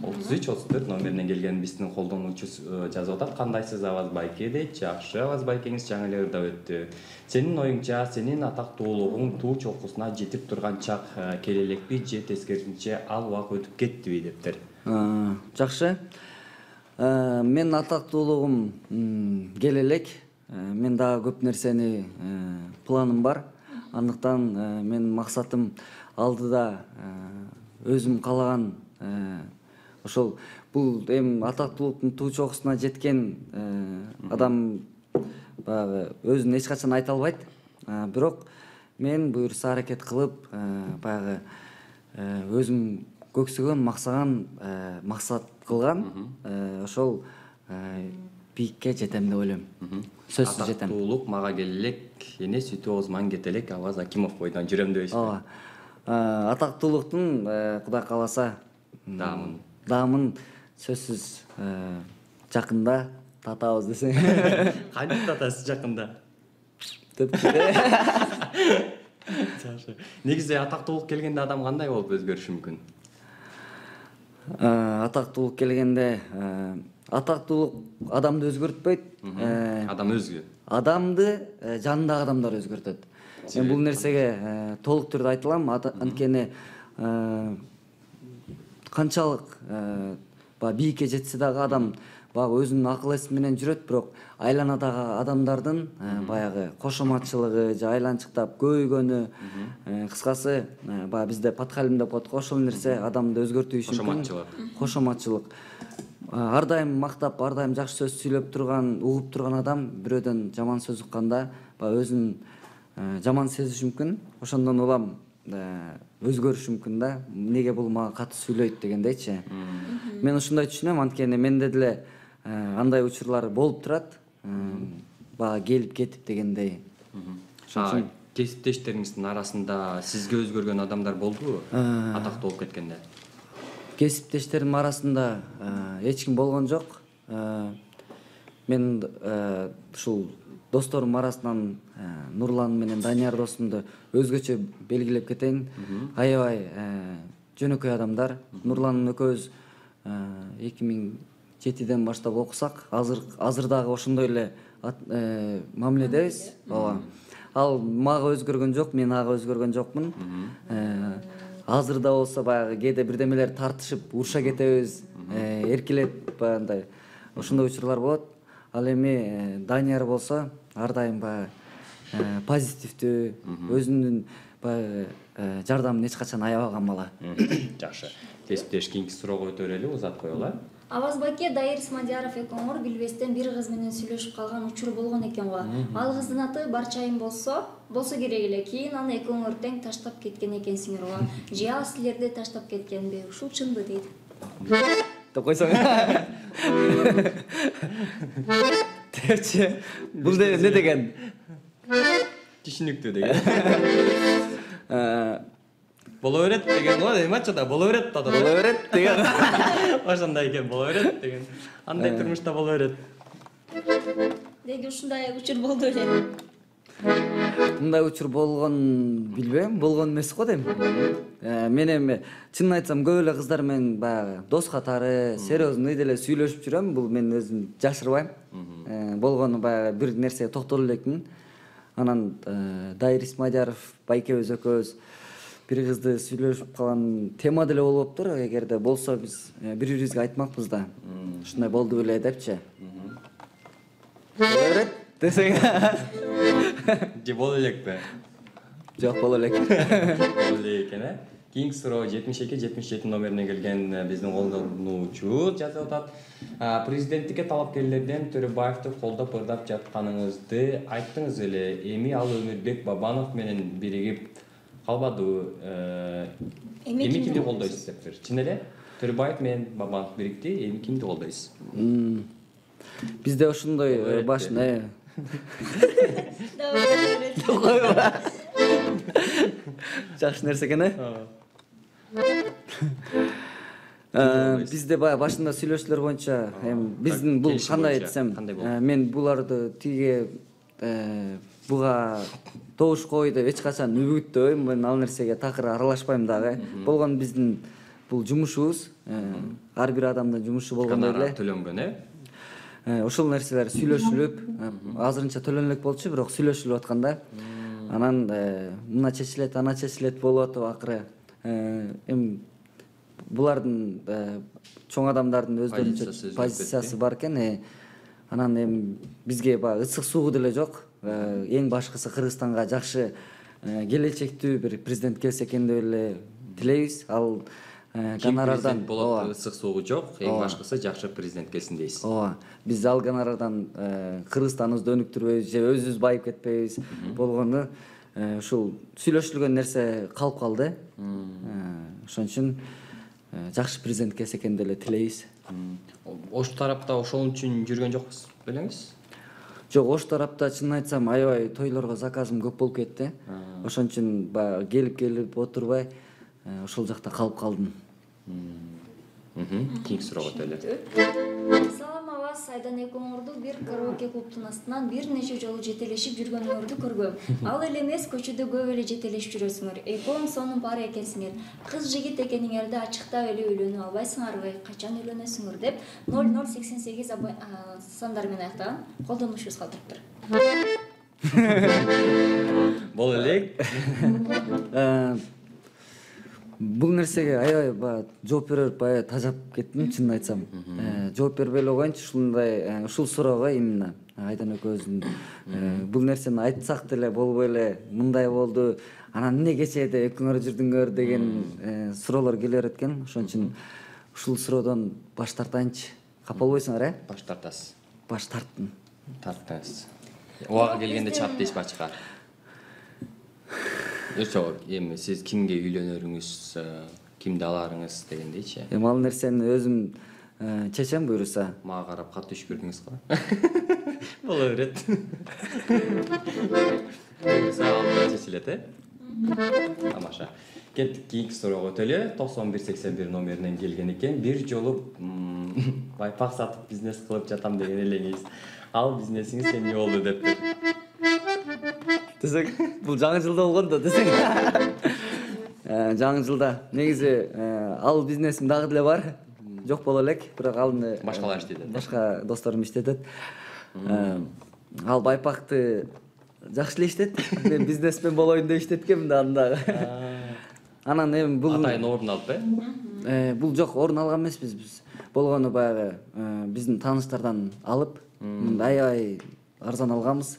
33-34 номеринен келген биздин колдонуучу жазып атат. Кандайсыз Аваз байке дейт. Жакшы, Аваз байкеңиз жаңы эле ырдап өттү. Сенин оюңча, сенин атактуулугуң туу чокусуна жетип турган чак келе элекпи же тескерисинче ал убак өтүп кеттиби дептир. Жакшы. Менин атактуулугум келе элек. Мен дагы көп нерсени планым бар. Андыктан менин максатым алдыда өзүм каалаган ошол бул эми атактуулуктун туу чокусуна жеткен адам баягы өзүн эч качан айта албайт. Бирок мен буюрса аракет кылып баягы өзүм көксөгөн, максат кылган ошол бийикке жетем деп ойлойм. Сөзсүз жетем. Атактуулук мага келе элек, эне сүтү оозуман кете элек, Аваз Акимов бойдон жүрөм дебейсизби? Ооба. Атактуулуктун Кудай кааласа даамын сөзсүз жакында татабыз десең. Кантип татасыз жакында? Жакшы. Негизи атактуулук келгенде адам кандай болуп өзгөрүшү мүмкүн? Атактуулук келгенде атактуулук адамды өзгөртпөйт. Адам өзгө. Адамды жанындагы адамдар өзгөртөт. Мен бул нерсеге толук түрдө айта алам. Анткени канчалык бийикке жетсе дагы адам баягы өзүнүн акыл эси менен жүрөт, бирок айланадагы адамдардын баягы кошоматчылыгы же айланчыктап көйгөнү, кыскасы баягы бизде подхалим деп коет го, ошол нерсе адамды өзгөртүшү мүмкүн. Кошоматчылык. Ар дайым мактап, ар дайым жакшы сөз сүйлөп турган, угуп турган адам бирөөдөн жаман сөз укканда баягы өзүн жаман сезиши мүмкүн. Ошондон улам өзгөрүшү мүмкүн да. Неге бул мага катуу сүйлөйт дегендейчи. Мен ушундай түшүнөм, анткени менде деле андай учурлар болуп турат. Баягы келип кетип дегендей. Кесиптештериңиздин арасында сизге өзгөргөн адамдар болдубу? Атактуу болуп кеткенде. Кесиптештерим арасында эч ким болгон жок. Мен ушул досторум арасынан Нурлан менен Данияр досумду өзгөчө белгилеп кетейин. Аябай жөнөкөй адамдар. Нурлан экөөбүз 2007-ден баштап окусак, азыр дагы ошондой эле мамиледебиз. Ооба. Ал мага өзгөргөн жок, мен ага өзгөргөн жокмун. Азыр да болсо баягы кээде бирдемелер тартышып, уруша кетебиз, эркелеп баягындай ошондой учурлар болот. Ал эми Данияр болсо ар дайым баягы позитивдүү, өзүнүн баягы жардамын эч качан аябаган бала. Жакшы. Кесиптеш кийинки суроого өтө берели, узатып коелу. Аваз байке Дайыр Исмадияров экөөңөр билбестен бир кыз менен сүйлөшүп калган учур болгон экен го. Ал кыздын аты Барчайым болсо керек эле. Кийин аны экөөңөр тең таштап кеткен экенсиңер го. Же ал силерди таштап кеткенби? Ушул чынбы дейт. Деп койсоң. Депчи. Бул не деген? Түшүнүктүү деген. Боло берет деген го, эмачада боло берет да. Боло берет деген. Ошондой экен, боло берет деген. Андай турмушта боло берет. Деги ушундай учур болду эле. Мындай учур болгон билбейм, болгон эмес го дейм. Мен эми чынын айтсам көп эле кыздар менен баягы дос катары, серьезный деле сүйлөшүп жүрөм. Бул мен өзүм жашырбайм. Болгону баягы бир нерсеге токтоло элекмин. Анан Дайыр Исмадияров байкебиз экөөбүз бир кызды сүйлөшүп калган тема деле болуптур. Эгерде болсо биз бири-бирибизге айтмакпыз да. Ушундай болду беле депчи. Боло берет десең. Же боло элекпи? Жок, боло элек. Боло элек экен, Кийинки суроо 72-77 номерине келген биздин колдонуучу жазып атат. Президенттикке талапкерлерден Төрөбаевди колдоп ырдап жатканыңызды айттыңыз эле. Эми ал Өмүрбек Бабанов менен биригип калбадыбы? Эми кимди колдойсуз дептир. Чын эле Төрөбаев менен Бабанов бирикти. Эми кимди колдойсуз? Бизде ошондой башында жакшы нерсе экен, Бизде баягы башында сүйлөшүүлөр боюнча эми биздин бул кандай десем, мен буларды тиге буга добуш кой деп эч качан үгүттөбөйм. Мен ал нерсеге такыр аралашпайм дагы. Болгон биздин бул жумушубуз, ар бир адамдын жумушу болгондой эле. Төлөнгөн, Ошол нерселер сүйлөшүлүп, азырынча төлөнөлүк болчу, бирок сүйлөшүлүп атканда, анан мына чечилет, ана чечилет болуп атып акыры. Эми булардын чоң адамдардын өздөрүнчө позициясы бар экен. Анан эми бизге баягы ысык суугу деле жок. Эң башкысы Кыргызстанга жакшы келечектүү бир президент келсе экен деп эле тилейбиз. Ал гонорардан болот, ысык суугу жок. Эң башкысы жакшы президент келсин дейсиз. Ооба. Биз ал гонорардан Кыргызстаныбызды өнүктүрбөйбүз же өзүбүз байып кетпейбиз. Болгону ушул сүйлөшүлгөн нерсе калып калды. Ошон үчүн жакшы президент келсе экен деп эле тилейбиз. Ош тарапта ошол үчүн жүргөн жокпуз белеңиз? Жок, Ош тарапта чынын айтсам аябай тойлорго заказым көп болуп кетти. Ошон үчүн баягы келип отурбай ошол жакта калып калдым. Кийинки суроого өтөлү. Салам Аваз, Айдан экөөңөрдү бир караоке клубтун астынан бир нече жолу жетелешип жүргөнүңөрдү көргөм. Ал эле эмес, көчөдө көп эле жетелешип жүрөсүңөр. Экөөң сонун пара экенсиңер. Кыз жигит экениңерди ачыктап эле үйлөнүп албайсыңарбы? Качан үйлөнөсүңөр деп 0088 сандар менен аяктаган колдонуучубуз калтырыптыр. Боло элек. Бул нерсеге аябай баягы жооп берип баягы тажап кеттим, чынын айтсам. Жооп бербей эле коеюнчу ушул суроого именно Айдан экөөбүздүн бул нерсени айтсак деле болбой эле мындай болду. Анан эмне кечээде экөөңөр жүрдүңөр деген суроолор келе берет экен. Ошон үчүн ушул суроодон баш тартайынчы. Капа болбойсуңар, Баш тартасыз. Баш тарттым. Тарттыңыз. Убагы келгенде чап дейсиз бачка. Жок, эми сиз кимге үйлөнөрүңүз, кимди аларыңыз дегендейчи. Эми ал нерсени өзүм чечем буйруса. Мага карап катуу үшкүрдүңүз го. Боло берет. Буйруса чечилет, Тамаша. Кеттик кийинки суроого өтөлү. 9181 номеринен келген экен. Бир жолу байпак сатып бизнес кылып жатам деген элеңиз. Ал бизнесиңиз эмне болду дептир. Десең, бул жаңы жылда болгон да десең. жаңы жылда негизи ал бизнесим дагы деле бар. Жок боло элек, бирок аны Башкалар иштетет. Башка досторум иштетет. Ал байпакты жакшы эле иштет. Мен бизнесмен болоюн деп иштеткенмин да андагы. Анан эми бул Атайын орун алып бул жок, орун алган эмеспиз биз. Болгону баягы биздин тааныштардан алып, аябай арзан алганбыз.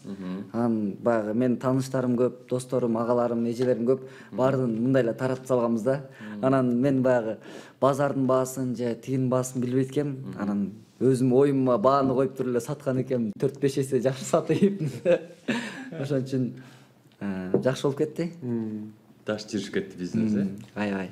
Анан баягы менин тааныштарым көп, досторум, агаларым, эжелерим көп. Баарын мындай эле таратып салганбыз да. Анан мен баягы базардын баасын же тигинин баасын билбейт экенмин. Анан өзүм оюмма бааны коюп туруп эле саткан экенмин. 4-5 эсе жакшы сатып. Ошон үчүн жакшы болуп кетти. Даш жүрүшүп кетти бизнес, Аябай.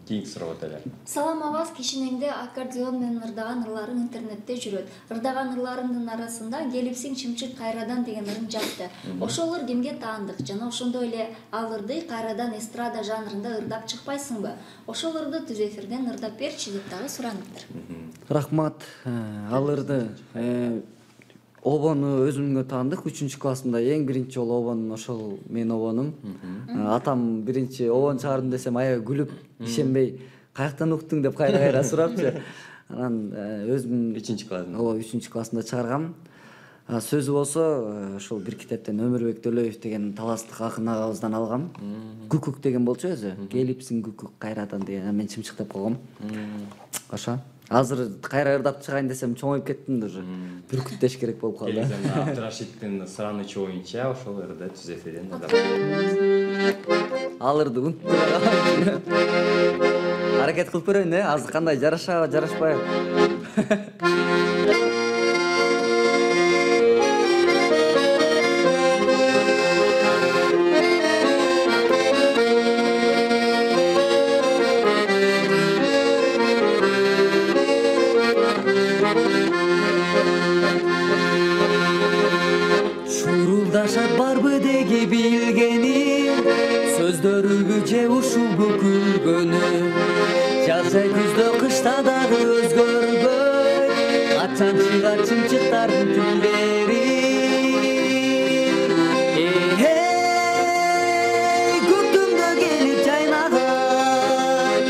Кийинки суроо өтөлү. Салам абас, кишинеңде аккордеон менен ырдаган ырларың интернетте жүрөт. Ырдаган ырларыңдын арасында келипсиң чымчык кайрадан деген ырың жатты. Ошол ыр кимге таандык жана ошондой эле ал ырды кайрадан эстрада жанрында ырдап чыкпайсыңбы? Ошол ырды түз эфирден ырдап берчи деп дагы сураныптыр. Рахмат. Ал ырды обону өзүмгө таандык. 3-классымда эң биринчи жолу обон ошол менин обонум. Атам биринчи обон чыгардым десем аябай күлүп, ишенбей, каяктан уктуң деп кайра сурапчы. Анан өзүм 3-классында. Ооба, 3-классында чыгаргам. Сөзү болсо ошол бир китептен Өмүрбек Төлөев деген таластык акын агабыздан алгам. Күкүк деген болчу өзү. Келипсиң күкүк кайрадан деген. Мен чымчык деп койгом. Ошо. Азыр кайра ырдап чыгайын десем чоңоюп кеттим уже. Бүркүт деш керек болуп калды. Абдырашиддин суранычы боюнча ошол ырды түз эфирден ырдап. Ал ырды унутуп аракет кылып көрөйүн, азыр кандай жарашабы, жарашпайбы? Шурулдашат барбы деги билгеним, сөздөрүбү же ушулбу күлгөнү. Жаз жай күздө кышта дагы өзгөрбөй, качан чыгат чымчыктардын тилдери. Көктөмдө келип жайнаган,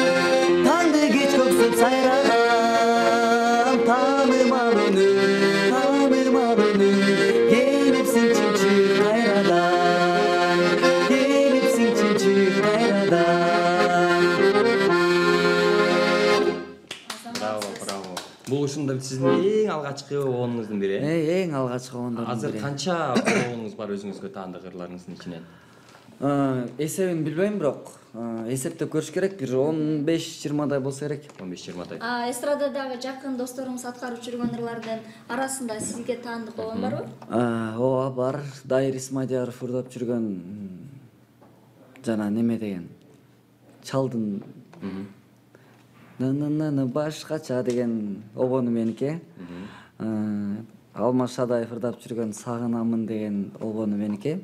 таңды кеч көксөп сайраган, таанымал үнү, таанымал үнү. Келипсиң чымчык кайрадан, келипсиң чымчык кайрадан. Браво. Бул ушунда сиздин эң алгачкы обонуңуздун бири. Эң алгачкы обондордун Азыр бири. канча обонуңуз бар өзүңүзгө таандык ырларыңыздын ичинен? Эсебин билбейм, бирок эсептеп көрүш керек. Бир 15-20дай болсо керек. 15-20дай. Эстрададагы жакын досторуңуз аткарып жүргөн ырлардын арасында сизге таандык обон барбы? Ооба, бар. Дайыр Исмадияров ырдап жүргөн жана неме деген чалдын наны башкача деген обону меники. Алмаз Шадаев ырдап жүргөн Сагынамын деген обону меники.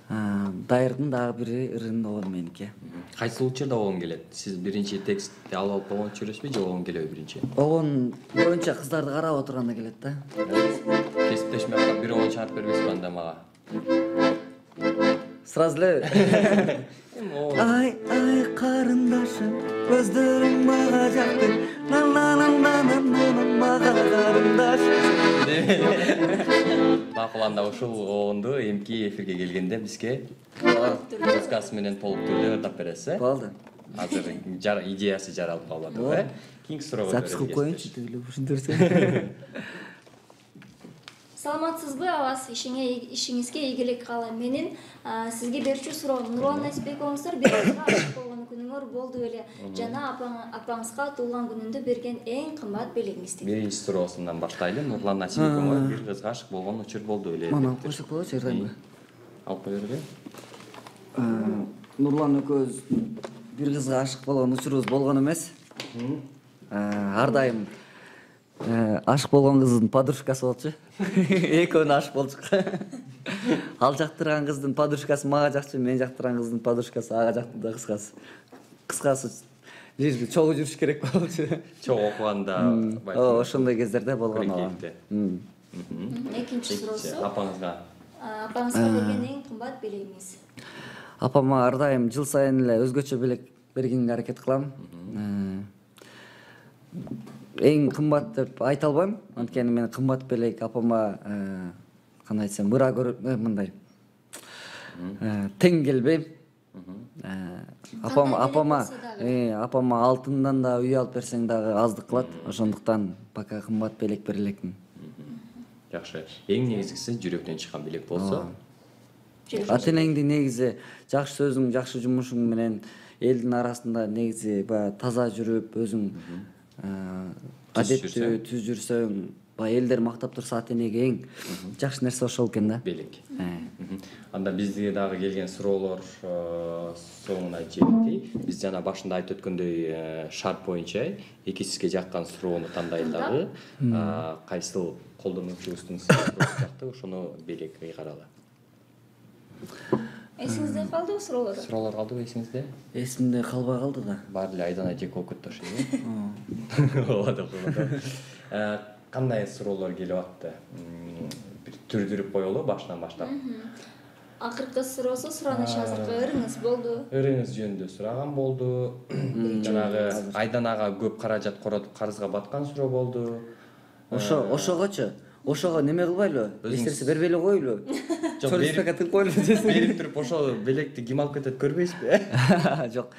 Дайырдын дагы бири ырын обону меники. Кайсы учурда обон келет? Сиз биринчи текстти алып болгон жүрөсүзбү же обон келеби биринчи? Обон боюнча кыздарды карап отурганда келет да. Кесиптешме калып бир обон чыгарып бербейсизби анда мага? Сразу эле ай карындашым, көздөрүң мага жакты, мага карындашым. Макул, анда ушул обонду эмки эфирге келгенде бизге музыкасы менен толук түрдө ырдап бересиз, э? Болду. Азыр идеясы жаралып калып атат, э? Кийинки суроого Запись кылып коеюнчу тигиле ушинтерсе. Саламатсызбы абас, ишиңизге ийгилик каалайм. Менин сизге берчү суроом, Нурлан Эсбековуңуздар бир кызга ашык болгон күнүңөр болду беле? Жана апаңызга туулган күнүндө берген эң кымбат белегиңизди. Биринчи суроосунан баштайлы. Нурлан Насибековго бир кызга ашык болгон учур болду беле? Мана алып койсок болочу, ырдайбы? Алып кой бербе? Нурлан экөөбүз бир кызга ашык болгон учурубуз болгон эмес. Ар дайым ашык болгон кыздын подружкасы болчу. Экөөнө ашык болчук. Ал жактырган кыздын подружкасы мага жакчу, мен жактырган кыздын подружкасы ага жактырды да кыскасы. Кыскасы бир чогуу жүрүш керек болчу. Чогуу окуганда Ошондой кездерде болгон ага. Экинчи суроосу. Апаңызга Апаңызга берген эң кымбат белегиңиз. Апама ар дайым жыл сайын эле өзгөчө белек бергенге аракет кылам. Эң кымбат деп айта албайм, анткени мен кымбат белек апама кандай айтсам ыра мындай тең келбейм. Апама алтындан да үй алып берсең дагы аздык кылат, ошондуктан пока кымбат белек бере элекмин. Жакшы. Эң негизгиси жүрөктөн чыккан белек болсо. Ата-энеңди негизи жакшы сөзүң, жакшы жумушуң менен элдин арасында негизи баягы таза жүрүп, өзүң адеттүү түз жүрсөң, баягы элдер мактап турса ата-энеге эң жакшы нерсе ошол экен да. Белек. Анда бизге дагы келген суроолор соңуна жетти. Биз жана башында айтып өткөндөй шарт боюнча эки сизге жаккан суроону тандайлы дагы кайсыл колдонуучубуздун жакты ошону белек ыйгаралы. Эсиңизде калдыбы суроолор? Суроолор калдыбы эсиңизде? Эсимде калбай калды да. Баары эле айдан айжек болуп кетти ошо. Болот. Кандай суроолор келип атты? Бир түрдүрүп коелу башынан баштап. Акыркы суроосу сураныш азыркы ырыңыз болду. Ырыңыз жөнүндө сураган болду. Жанагы Айдан ага көп каражат коротуп карызга баткан суроо болду. Ошогочу ошого неме кылбайлыбы? Эч бербей эле коелу. Чорспека тыгып коелу. Берип туруп ошол белекти ким алып кетет көрбөйсүзбү? Жок.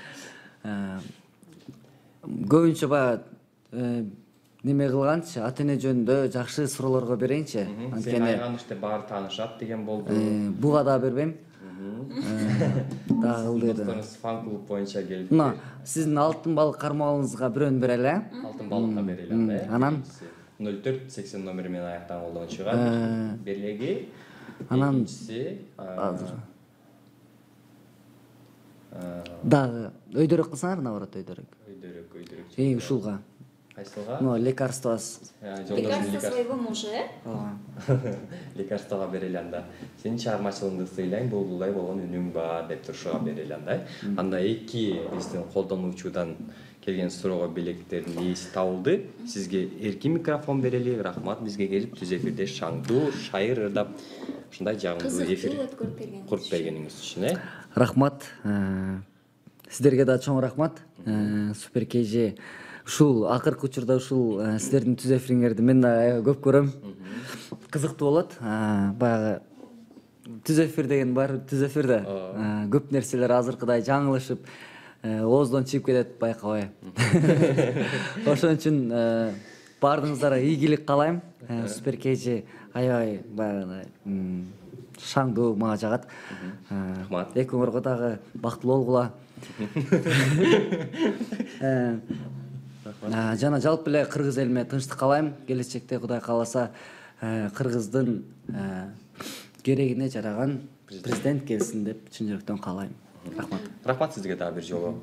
Көбүнчө баягы неме кылганчы, ата-эне жөнүндө жакшы суроолорго берейинчи. Анткени айганышты баары таанышат деген болду. Буга да бербейм. Дагы ылдыр. Досторуңуз фан-клуб боюнча келип. Мына, сиздин алтын балык кармалыңызга бирөөнү берели. Алтын балыкка берели. Анан 0480 номери менен аяктан колдонуучуга белеги. Анан дагы өйдөрөк кылсаңар, наоборот өйдөрөк. Өйдөрөк. Ушулга. Кайсылга? Ну, лекарство. Лекарство своего мужа, Лекарствого берели анда. Сенин чыгармачылыгыңды сыйлайм, булбулдай болгон үнүң бар деп турушуга берели анда. Анда эки биздин колдонуучудан келген суроого белектердин ээси табылды. Сизге эркин микрофон берели. Рахмат бизге келип түз эфирде шаңдуу, шайыр ырдап ушундай жагымдуу эфир куруп бергениңиз үчүн. Рахмат. Сиздерге да чоң рахмат. Супер KG ушул акыркы учурда ушул сиздердин түз эфириңерди мен да көп көрөм. Кызыктуу болот. Баягы түз эфир деген бар, түз эфирде көп нерселер азыркыдай жаңылышып, ооздон чыгып кетет, байкабай. Ошон үчүн баарыңыздарга ийгилик каалайм. Супер KG аябай баягы шаңдуу мага жагат. Рахмат. Экөөңөргө дагы бактылуу болгула. Жана жалпы эле кыргыз элиме тынчтык каалайм. Келечекте Кудай кааласа кыргыздын керегине жараган президент келсин деп чын жүрөктөн каалайм. Рахмат. Рахмат сизге дагы бир жолу.